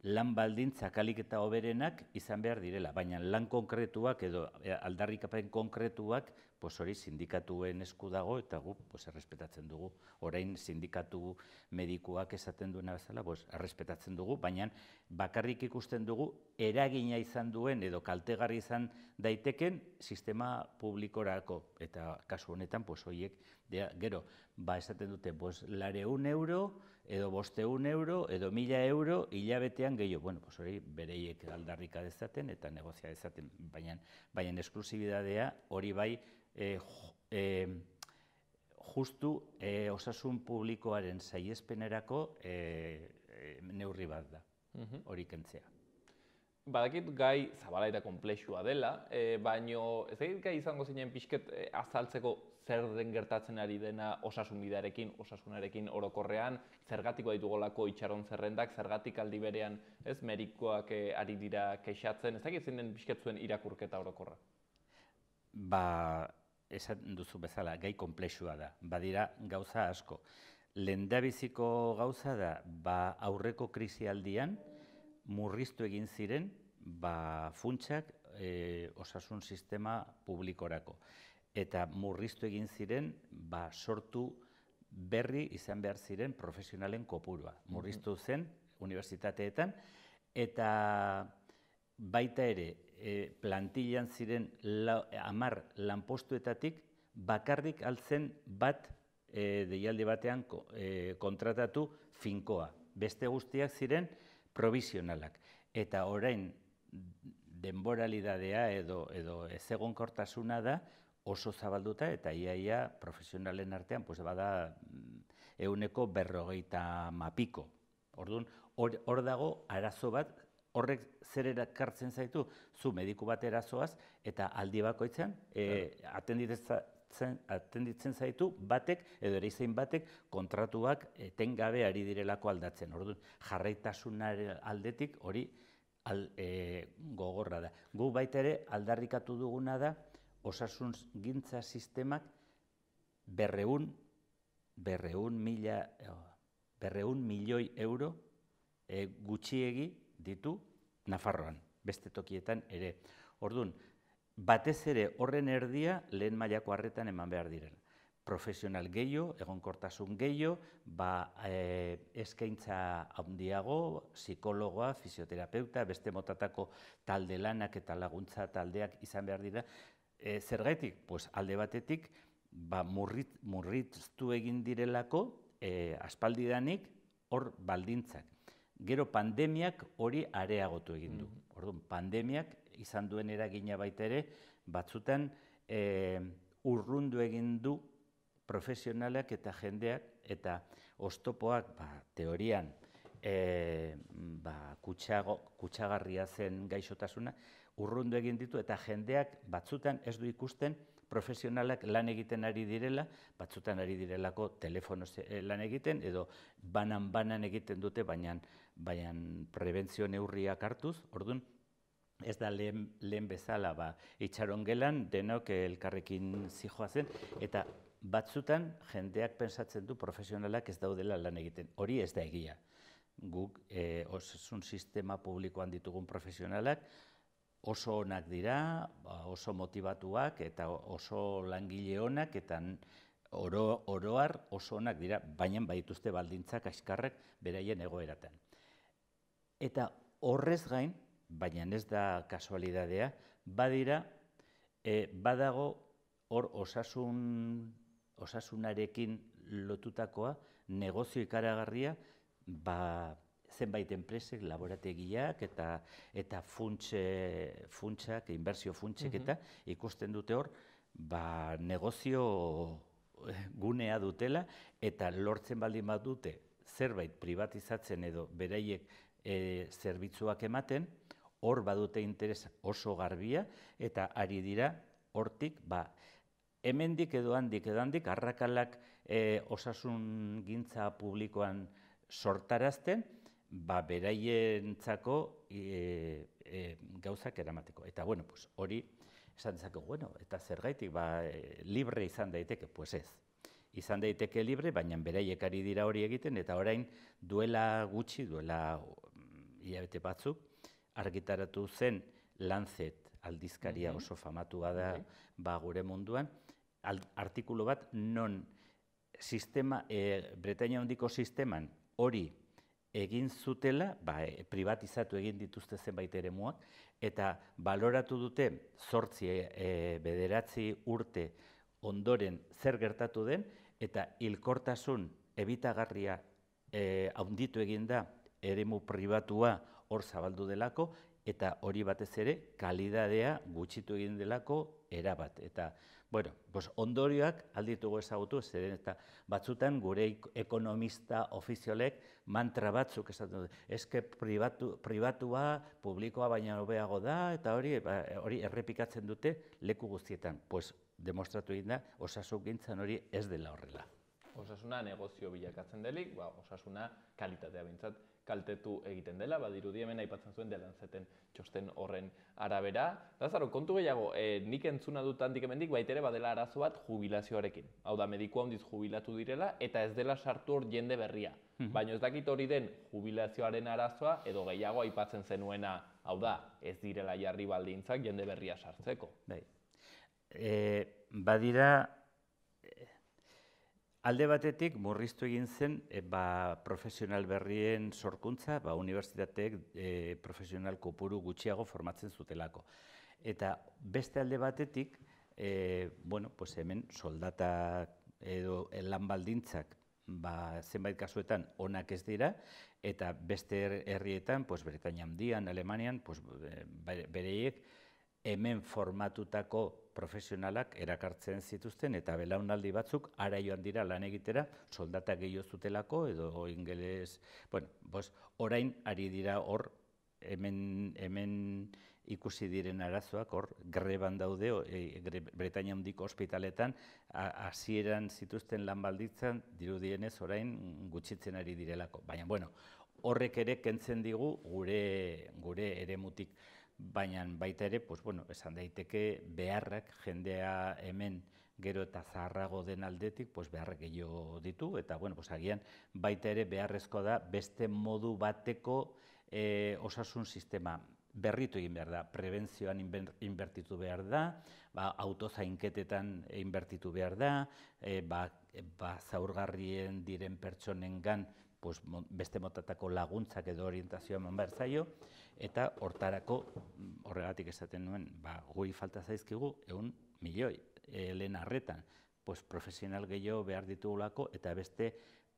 lan baldintzak ahalik eta hoberenak izan behar direla, baina lan konkretuak edo aldarrikapen konkretuak pues hori sindikatuen esku dago, eta gu pues, errespetatzen dugu. Orain sindikatu medikuak esaten duena bezala pues, errespetatzen dugu, baina bakarrik ikusten dugu eragina izan duen edo kaltegarri izan daiteken sistema publikorako. Eta kasu honetan, pues, horiek, gero, ba, esaten dute, pues, lareun euro, edo bosteun euro, edo mila euro, hilabetean gehiago. Bueno, pues, hori bereiek aldarrika dezaten eta negozia dezaten, baina, baina esklusibidadea hori bai, E, e, justu e, osasun publikoaren saiespenerako e, e, neurri bat da, hori kentzea. Badakit gai zabala eta konplexua dela, baino ez dakit gai izango zinen pixket azaltzeko zer den gertatzen ari dena osasun bidearekin, osasunarekin orokorrean, zergatik baditugolako itxaron zerrendak, zergatik aldi berean ez medikoak ari dira kexatzen, ez dakit zein den pixket zuen irakurketa orokorra? Ba, esan duzu bezala, gai konplexua da, badira gauza asko. Lehendabiziko gauza da, ba aurreko krisialdian, murriztu egin ziren ba, funtsak osasun sistema publikorako. Eta murriztu egin ziren ba, sortu berri izan behar ziren profesionalen kopurua. Murriztu zen unibertsitateetan eta baita ere plantillan ziren hamar lanpostuetatik bakarrik altzen bat deialdi batean kontratatu finkoa. Beste guztiak ziren provisionalak. Eta orain denboralidadea edo ezegonkortasuna da oso zabalduta eta iaia profesionalen artean bada ehuneko berrogeita mapiko. Orduan, hor dago arazo bat, horrek zer erakartzen zaitu, zu mediku bat erazoaz eta aldi bakoitzean atenditzen zaitu batek edo ereizein batek kontratuak etengabe ari direlako aldatzen. Orduan, jarraitasunaren aldetik hori gogorra da. Gu baita ere aldarrikatu duguna da osasun gintza sistemak berreun milioi euro gutxiegi ditu Nafarroan, beste tokietan ere. Orduan, batez ere horren erdia lehen mailako arretan eman behar diren. Profesional gehiago, egonkortasun gehiago, eskaintza handiago, psikologoa, fisioterapeuta, beste motatako talde lanak eta laguntza taldeak izan behar dira. Zergatik? Alde batetik murriztu egin direlako aspaldidanik hor baldintzak. Gero pandemiak hori areagotu egin du. Orduan, pandemiak izan duen eragina baita ere, batzutan urrundu egin du profesionalak eta jendeak eta oztopoak teorian kutsagarria zen gaixotasuna, urrundu egin ditu eta jendeak batzutan ez du ikusten profesionalak lan egiten ari direla, batzutan ari direlako telefonoz lan egiten edo banan-banan egiten dute, baina prebentzio neurriak hartuz. Orduan, ez da lehen bezala itxaron gelan, denok elkarrekin zijoazen, eta batzutan jendeak pensatzen du profesionalak ez daudela lan egiten. Hori ez da egia. Guk osasun sistema publikoan ditugun profesionalak oso onak dira, oso motibatuak eta oso langile onak eta oroar oso onak dira, baina badituzte baldintzak askarrak beraien egoeratan. Eta horrez gain, baina ez da kasualidadea, badira, badago hor osasunarekin lotutakoa, negozio ikaragarria, zenbait enpresek, laborategiak eta funtsak, inbertsio funtsek eta ikusten dute hor, negozio gunea dutela eta lortzen baldin bat dute zerbait privatizatzen edo beraiek zerbitzuak ematen, hor badute interes oso garbia eta ari dira hortik, hemendik edo handik edo handik arrakalak osasun gintza publikoan sortarazten, beraientzako gauzak eramateko. Eta, bueno, hori esan dezakegu, eta zergaitik, libre izan daiteke, pues ez. Izan daiteke libre, baina beraiek ari dira hori egiten, eta orain duela gutxi, duela hilabete batzuk, argitaratu zen Lancet aldizkaria oso famatua da gure munduan, artikulu bat non Bretainia handiko sisteman hori egin zutela, privatizatu egin dituzte zenbait eremuak, eta baloratu dute zortzi bederatzi urte ondoren zer gertatu den, eta hilkortasun ebitagarria handitu egin da eremu pribatua hor zabaldu delako, eta hori batez ere kalidadea gutxitu egin delako erabat. Eta, bueno, pues ondorioak alditugu ezagutu, zeren eta batzutan gure ekonomista ofiziolek mantra batzuk esaten dute. Eske pribatu, pribatua, publikoa baina hobeago da, eta hori, hori errepikatzen dute leku guztietan. Pues demostratu egin da, osasungintzan hori ez dela horrela. Osasuna negozio bilakatzen delik, ba, osasuna kalitatea bintzat kaltetu egiten dela, badirudi hemen aipatzen zuen dela zeten txosten horren arabera. Lazaro, kontu gehiago, e, nik entzuna dut handik hemendik baitere badela arazo bat jubilazioarekin. Hau da, mediku handiz jubilatu direla eta ez dela sartu hor jende berria. Baina ez dakit hori den jubilazioaren arazoa edo gehiago aipatzen zenuena, hau da, ez direla jarri baldintzak jende berria sartzeko. Bai. E, badira, alde batetik murriztu egin zen e, ba, profesional berrien sorkuntza, ba, unibertsitateek e, profesional kopuru gutxiago formatzen zutelako. Eta beste alde batetik, e, bueno, pues hemen soldatak edo lan baldintzak ba, zenbait kasuetan onak ez dira, eta beste herrietan, pues, Britainia Handian, Alemanian, pues, bereiek hemen formatutako profesionalak erakartzen zituzten eta belaunaldi batzuk ara joan dira lan egitera soldata gehiago zutelako edo ingeles, bueno, pues, orain ari dira hor hemen, hemen ikusi diren arazoak, hor greban daude, e, Britainia Handiko ospitaletan hasieran zituzten lan baldintzan dirudienez orain gutxitzen ari direlako. Baina, bueno, horrek ere kentzen digu gure, gure eremutik. Baina baita ere, pues, bueno, esan daiteke beharrak jendea hemen gero eta zaharrago den aldetik, pues, beharrak gehiago ditu, eta bueno, pues, agian baita ere beharrezko da beste modu bateko e, osasun sistema berritu egin behar da, prebentzioan inbertitu behar da, ba, autozainketetan inbertitu behar da, e, ba, ba, zaurgarrien diren pertsonengan pues, beste motatako laguntzak edo orientazioa eman behar zaio, eta hortarako, horregatik esaten nuen, ba, guri falta zaizkigu ehun milioi, e, lehen arretan, pues, profesional gehiago behar ditugulako, eta beste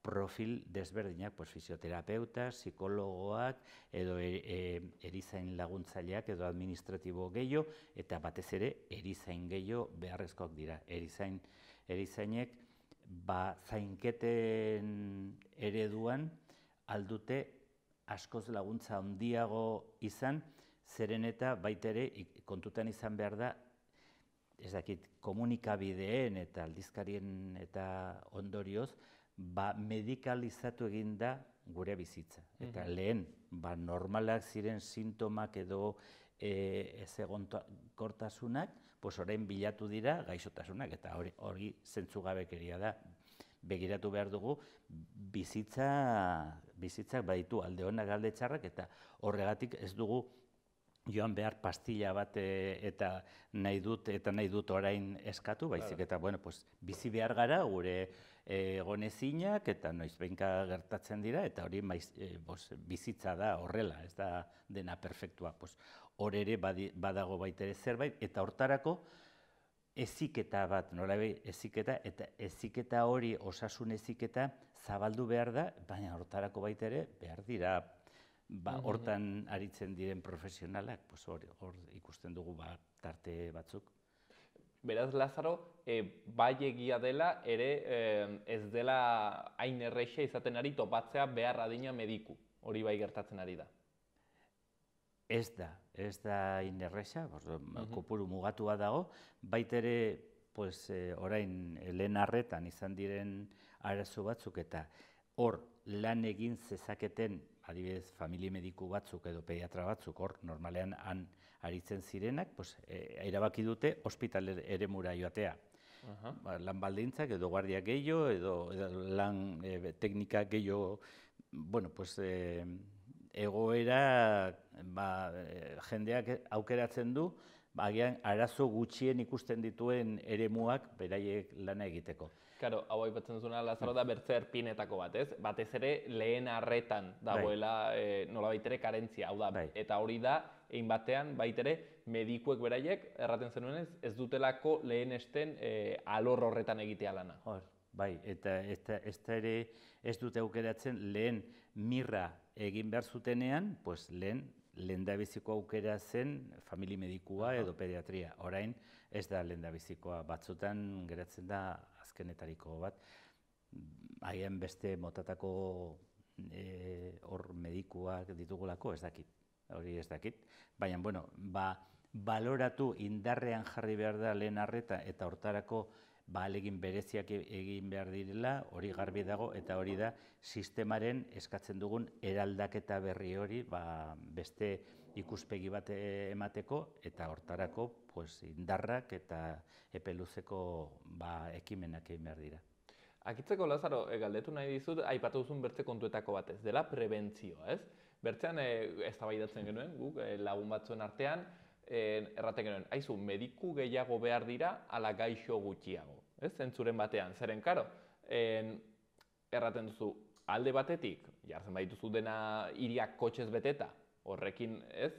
profil desberdinak, pues, fisioterapeutas, psikologoak, edo e, e, erizain laguntzaileak edo administratibo gehiago, eta batez ere erizain gehiago beharrezkoak dira. Erizain, erizainek, ba, zainketen ereduan aldute askoz laguntza handiago izan, zeren eta baita ere kontutan izan behar da, ez dakit, komunikabideen eta aldizkarien eta ondorioz, ba, medikalizatu egin da gure bizitza. Eta lehen, ba, normalak ziren sintomak edo e, ez egonkortasunak, pues orain bilatu dira gaixotasunak, eta hori, hori zentzugabekeria da. Begiratu behar dugu, bizitza, bizitzak baditu alde honak alde txarrak, eta horregatik ez dugu joan behar pastilla bat e, eta nahi dut eta nahi dut orain eskatu, baizik eta bueno, pues, bizi behar gara gure egonezinak eta noiz behinka gertatzen dira, eta hori maiz, e, bos, bizitza da horrela, ez da dena perfektua. Pues, hor ere badi, badago baita ere zerbait, eta hortarako eziketa bat, nolabait eziketa, eta eziketa hori, osasun eziketa zabaldu behar da, baina hortarako baita ere behar dira, ba, hortan aritzen diren profesionalak, pues, hor, hor ikusten dugu ba, tarte batzuk. Beraz, Lazaro, e, bai egia dela, ere e, ez dela hain erreixa izaten ari topatzea behar adina mediku, hori bai gertatzen ari da. Ez da, ez da hain erreixa, kopuru mugatua dago, baita ere, pues, e, orain lehen arretan izan diren arazo batzuk, eta hor lan egin zezaketen, adibidez, familia mediku batzuk edo pediatra batzuk, hor normalean han aritzen zirenak, pues, e, erabaki dute ospital eremura joatea. Uh-huh. Ba, lan baldintzak edo guardia gehiago, edo, edo lan e, teknika gehiago, bueno, pues, e, egoera ba, jendeak aukeratzen du, ba, agian arazo gutxien ikusten dituen eremuak beraiek lana egiteko. Claro, hau aipatzen duzuna, Lazaro, da bertze erpinetako bat, ez? Batez ere lehen arretan dagoela e, nolabait ere karentzia, hau da, bai. Eta hori da, egin batean, baitere, medikuek beraiek, erraten zenuenez, ez dutelako lehenesten e, alor horretan egitea lana. Hor, bai, eta ez da ere ez dute aukeratzen lehen mirra egin behar zutenean, pues lehen lehendabiziko aukera zen famili medikua edo pediatria. Orain ez da lehendabizikoa, batzutan geratzen da azkenetariko bat. Haien beste motatako hor medikuak ditugulako ez dakit, hori ez dakit. Baina, bueno, baloratu indarrean jarri behar da lehen arreta eta hortarako ahalegin bereziak egin behar direla, hori garbi dago, eta hori da sistemaren eskatzen dugun eraldaketa berri hori beste ikuspegi bat emateko, eta hortarako indarrak eta epe luzeko ekimenak egin behar dira. Akitzeko, Lazaro, galdetu nahi dizut, aipatu duzun bertze kontuetako bat ez dela prebentzioa, ez? Bertzean eztabaidatzen genuen, guk lagun batzuen artean, erraten genuen, haizu, mediku gehiago behar dira ala gaixo gutxiago, ez? Zentzuren batean, zeren, karo, erraten duzu, alde batetik, jartzen badituzu dena hiriak kotxez beteta, horrekin, ez,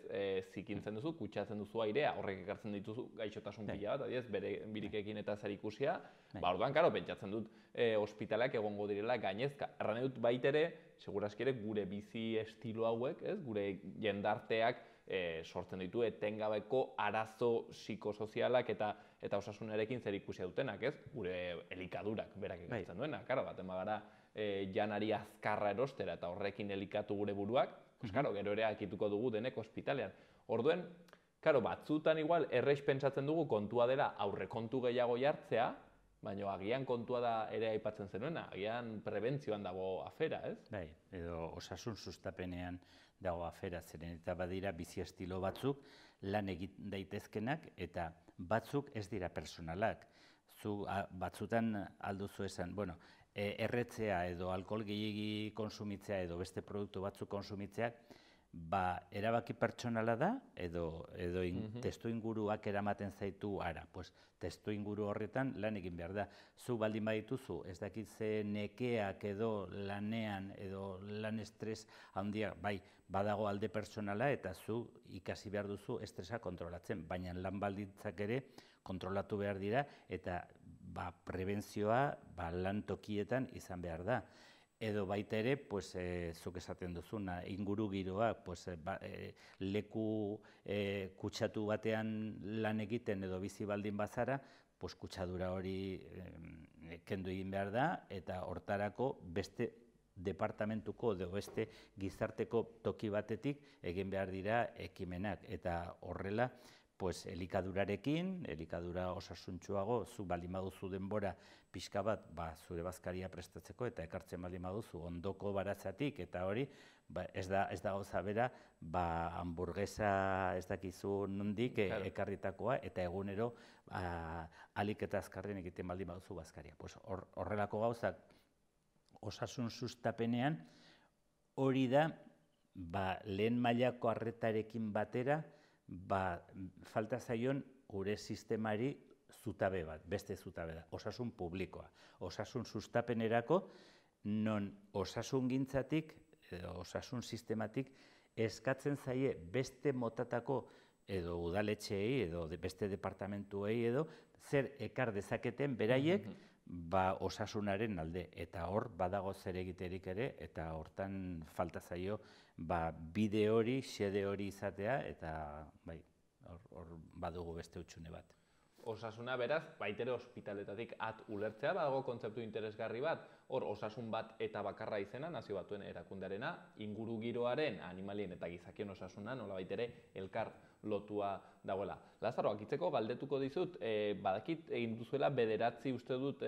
zikintzen duzu, kutsatzen duzu airea, horrek ekartzen dituzu gaixotasun pila bat, adiez, bere birikekin eta zer ikusia, ba, orduan, karo, pentsatzen dut ospitaleak egongo direla gainezka. Erran dut baitere, seguraski ere, gure bizi estilo hauek, ez, gure jendarteak sortzen ditu etengabeko arazo psikosozialak eta osasunarekin zer ikusia dutenak, ez, gure elikadurak berak ekartzen duena, karo, baten bagara janari azkarra erostera eta horrekin elikatu gure buruak, pues, karo, gero ere akituko dugu denek ospitalean. Orduen, karo, batzutan igual erreix pentsatzen dugu kontua dela aurrekontu gehiago jartzea, baina agian kontua da ere aipatzen zenuena, agian prebentzioan dago afera, ez? Bai, edo osasun sustapenean dago afera, zeren eta badira bizi estilo batzuk lan egin daitezkenak eta batzuk ez dira personalak. Zu batzutan alduzu esan, bueno, erretzea edo alkohol gehiegi konsumitzea edo beste produktu batzuk konsumitzea, ba, erabaki pertsonala da, edo testu inguruak eramaten zaitu ara. Pues, testu inguru horretan lan egin behar da. Zu baldin badituzu, ez dakit ze nekeak edo lanean, edo lan estres handia, bai, badago alde pertsonala eta zu ikasi behar duzu estresa kontrolatzen, baina lan baldintzak ere kontrolatu behar dira eta prebentzioa lan tokietan izan behar da. Edo baita ere, zuk esaten duzuna, inguru giroa, leku kutsatu batean lan egiten edo bizi baldin bazara, kutsadura hori kendu egin behar da, eta hortarako beste departamentuko edo beste gizarteko toki batetik egin behar dira ekimenak. Eta horrela, elikadurarekin, elikadura osasuntsuago, zu baldin baduzu denbora pixka bat zure bazkaria prestatzeko eta ekartzen baldin baduzu ondoko baratzatik eta hori ez da gauza bera hamburguesa ez dakizu nondik ekarritakoa eta egunero alik eta azkarren egiten baldin baduzu bazkaria. Horrelako gauzak osasun sustapenean hori da lehen mailako arretarekin batera falta zaion gure sistemari zutabe bat, beste zutabe da, osasun publikoa. Osasun sustapenerako, non osasun gintzatik, osasun sistematik, eskatzen zaie beste motatako edo udaletxeei edo beste departamentuei edo zer ekar dezaketen beraiek osasunaren alde. Eta hor badago zer egiterik ere eta hortan falta zaio bide hori, xede hori izatea eta hor badugu beste utxune bat. Osasuna beraz, baitere ospitaletatik at ulertzea, badago kontzeptu interesgarri bat, hor osasun bat eta bakarra izena, nazio batuen erakundearena, inguru giroaren, animalien eta gizakion osasuna, nola baitere elkar lotua dagoela. Lazaro, akitzeko galdetuko dizut, badakit egin duzuela bederatzi uste dut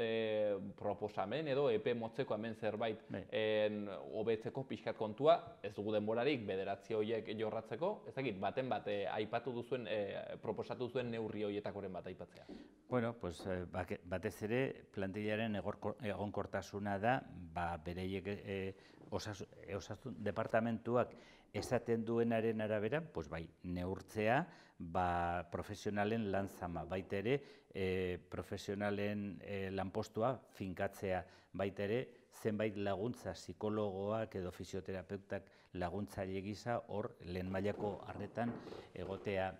proposamen edo epe motzeko hemen zerbait hobetzeko pixkat kontua, ez dugu denborarik bederatzi horiek jorratzeko, ez dakit, baten bat aipatu duzuen, proposatu duzuen neurri horietakoren bat aipatzea. Bueno, pues batez ere plantillaren egonkortasuna da, bereiek osasun departamentuak esaten duenaren arabera, bai, neurtzea, profesionalen lan zama, baita ere, profesionalen lanpostua finkatzea, baita ere, zenbait laguntza, psikologoak edo fisioterapeutak laguntzaile gisa, hor, lehen mailako arretan egotea,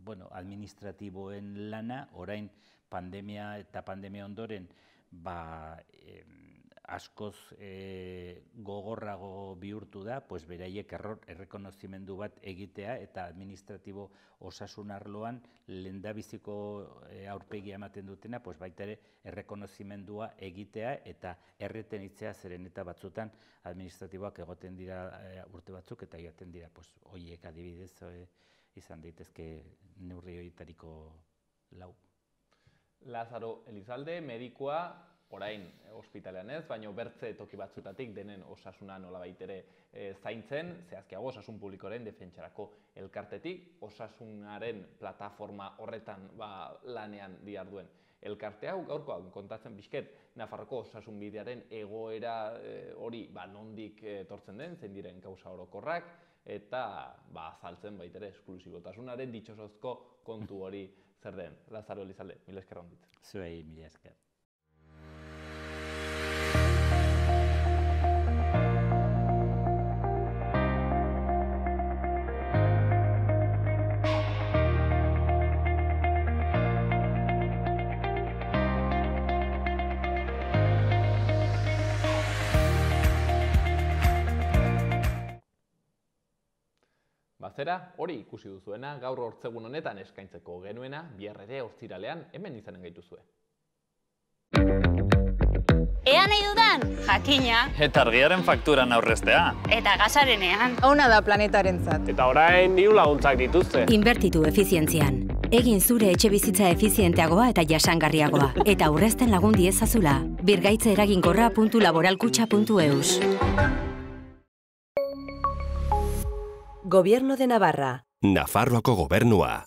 bueno, administratiboen lana, orain pandemia eta pandemia ondoren, askoz e, gogorrago bihurtu da, pues beraiek error errekonozimendu bat egitea eta administratibo osasun arloan lehendabiziko e, aurpegia ematen dutena, pues baita ere errekonozimendua egitea eta erretenitzea, zeren eta batzutan administratiboak egoten dira e, urte batzuk eta joaten dira, pues horiek adibidez e, izan daitezke neurri horietariko lau. Lazaro Elizalde, medikua, orain ospitalean ez, baina bertze toki batzutatik denen osasuna nolabait ere e, zaintzen, zehazkiago osasun publikoaren defentsarako elkartetik, osasunaren plataforma horretan ba, lanean diharduen elkarte hau, gaurkoan kontatzen bizket Nafarroko osasun bidearen egoera e, hori ba, nondik etortzen den, zein diren gauza orokorrak, eta ba, azaltzen baitere esklusibotasunaren ditxosozko kontu hori zer den. Lazaro Elizalde, mila esker ondit. Zuei, mila esker. Bazera, hori ikusi duzuena, gaur hortzegun honetan eskaintzeko genuena, bihar ere ostiralean hemen izanen gaituzue. Ea nahi dudan, jakina. Eta argiaren fakturan aurreztea. Eta gasarenean. Ona da planetarentzat. Eta orain diru laguntzak dituzte. Inbertitu efizientzian. Egin zure etxe bizitza efizienteagoa eta jasangarriagoa. Eta aurrezten lagun diezazula. birgaitze eraginkorra puntu laboralkutxa puntu eus. Gobierno de Navarra. Nafarroako gobernua.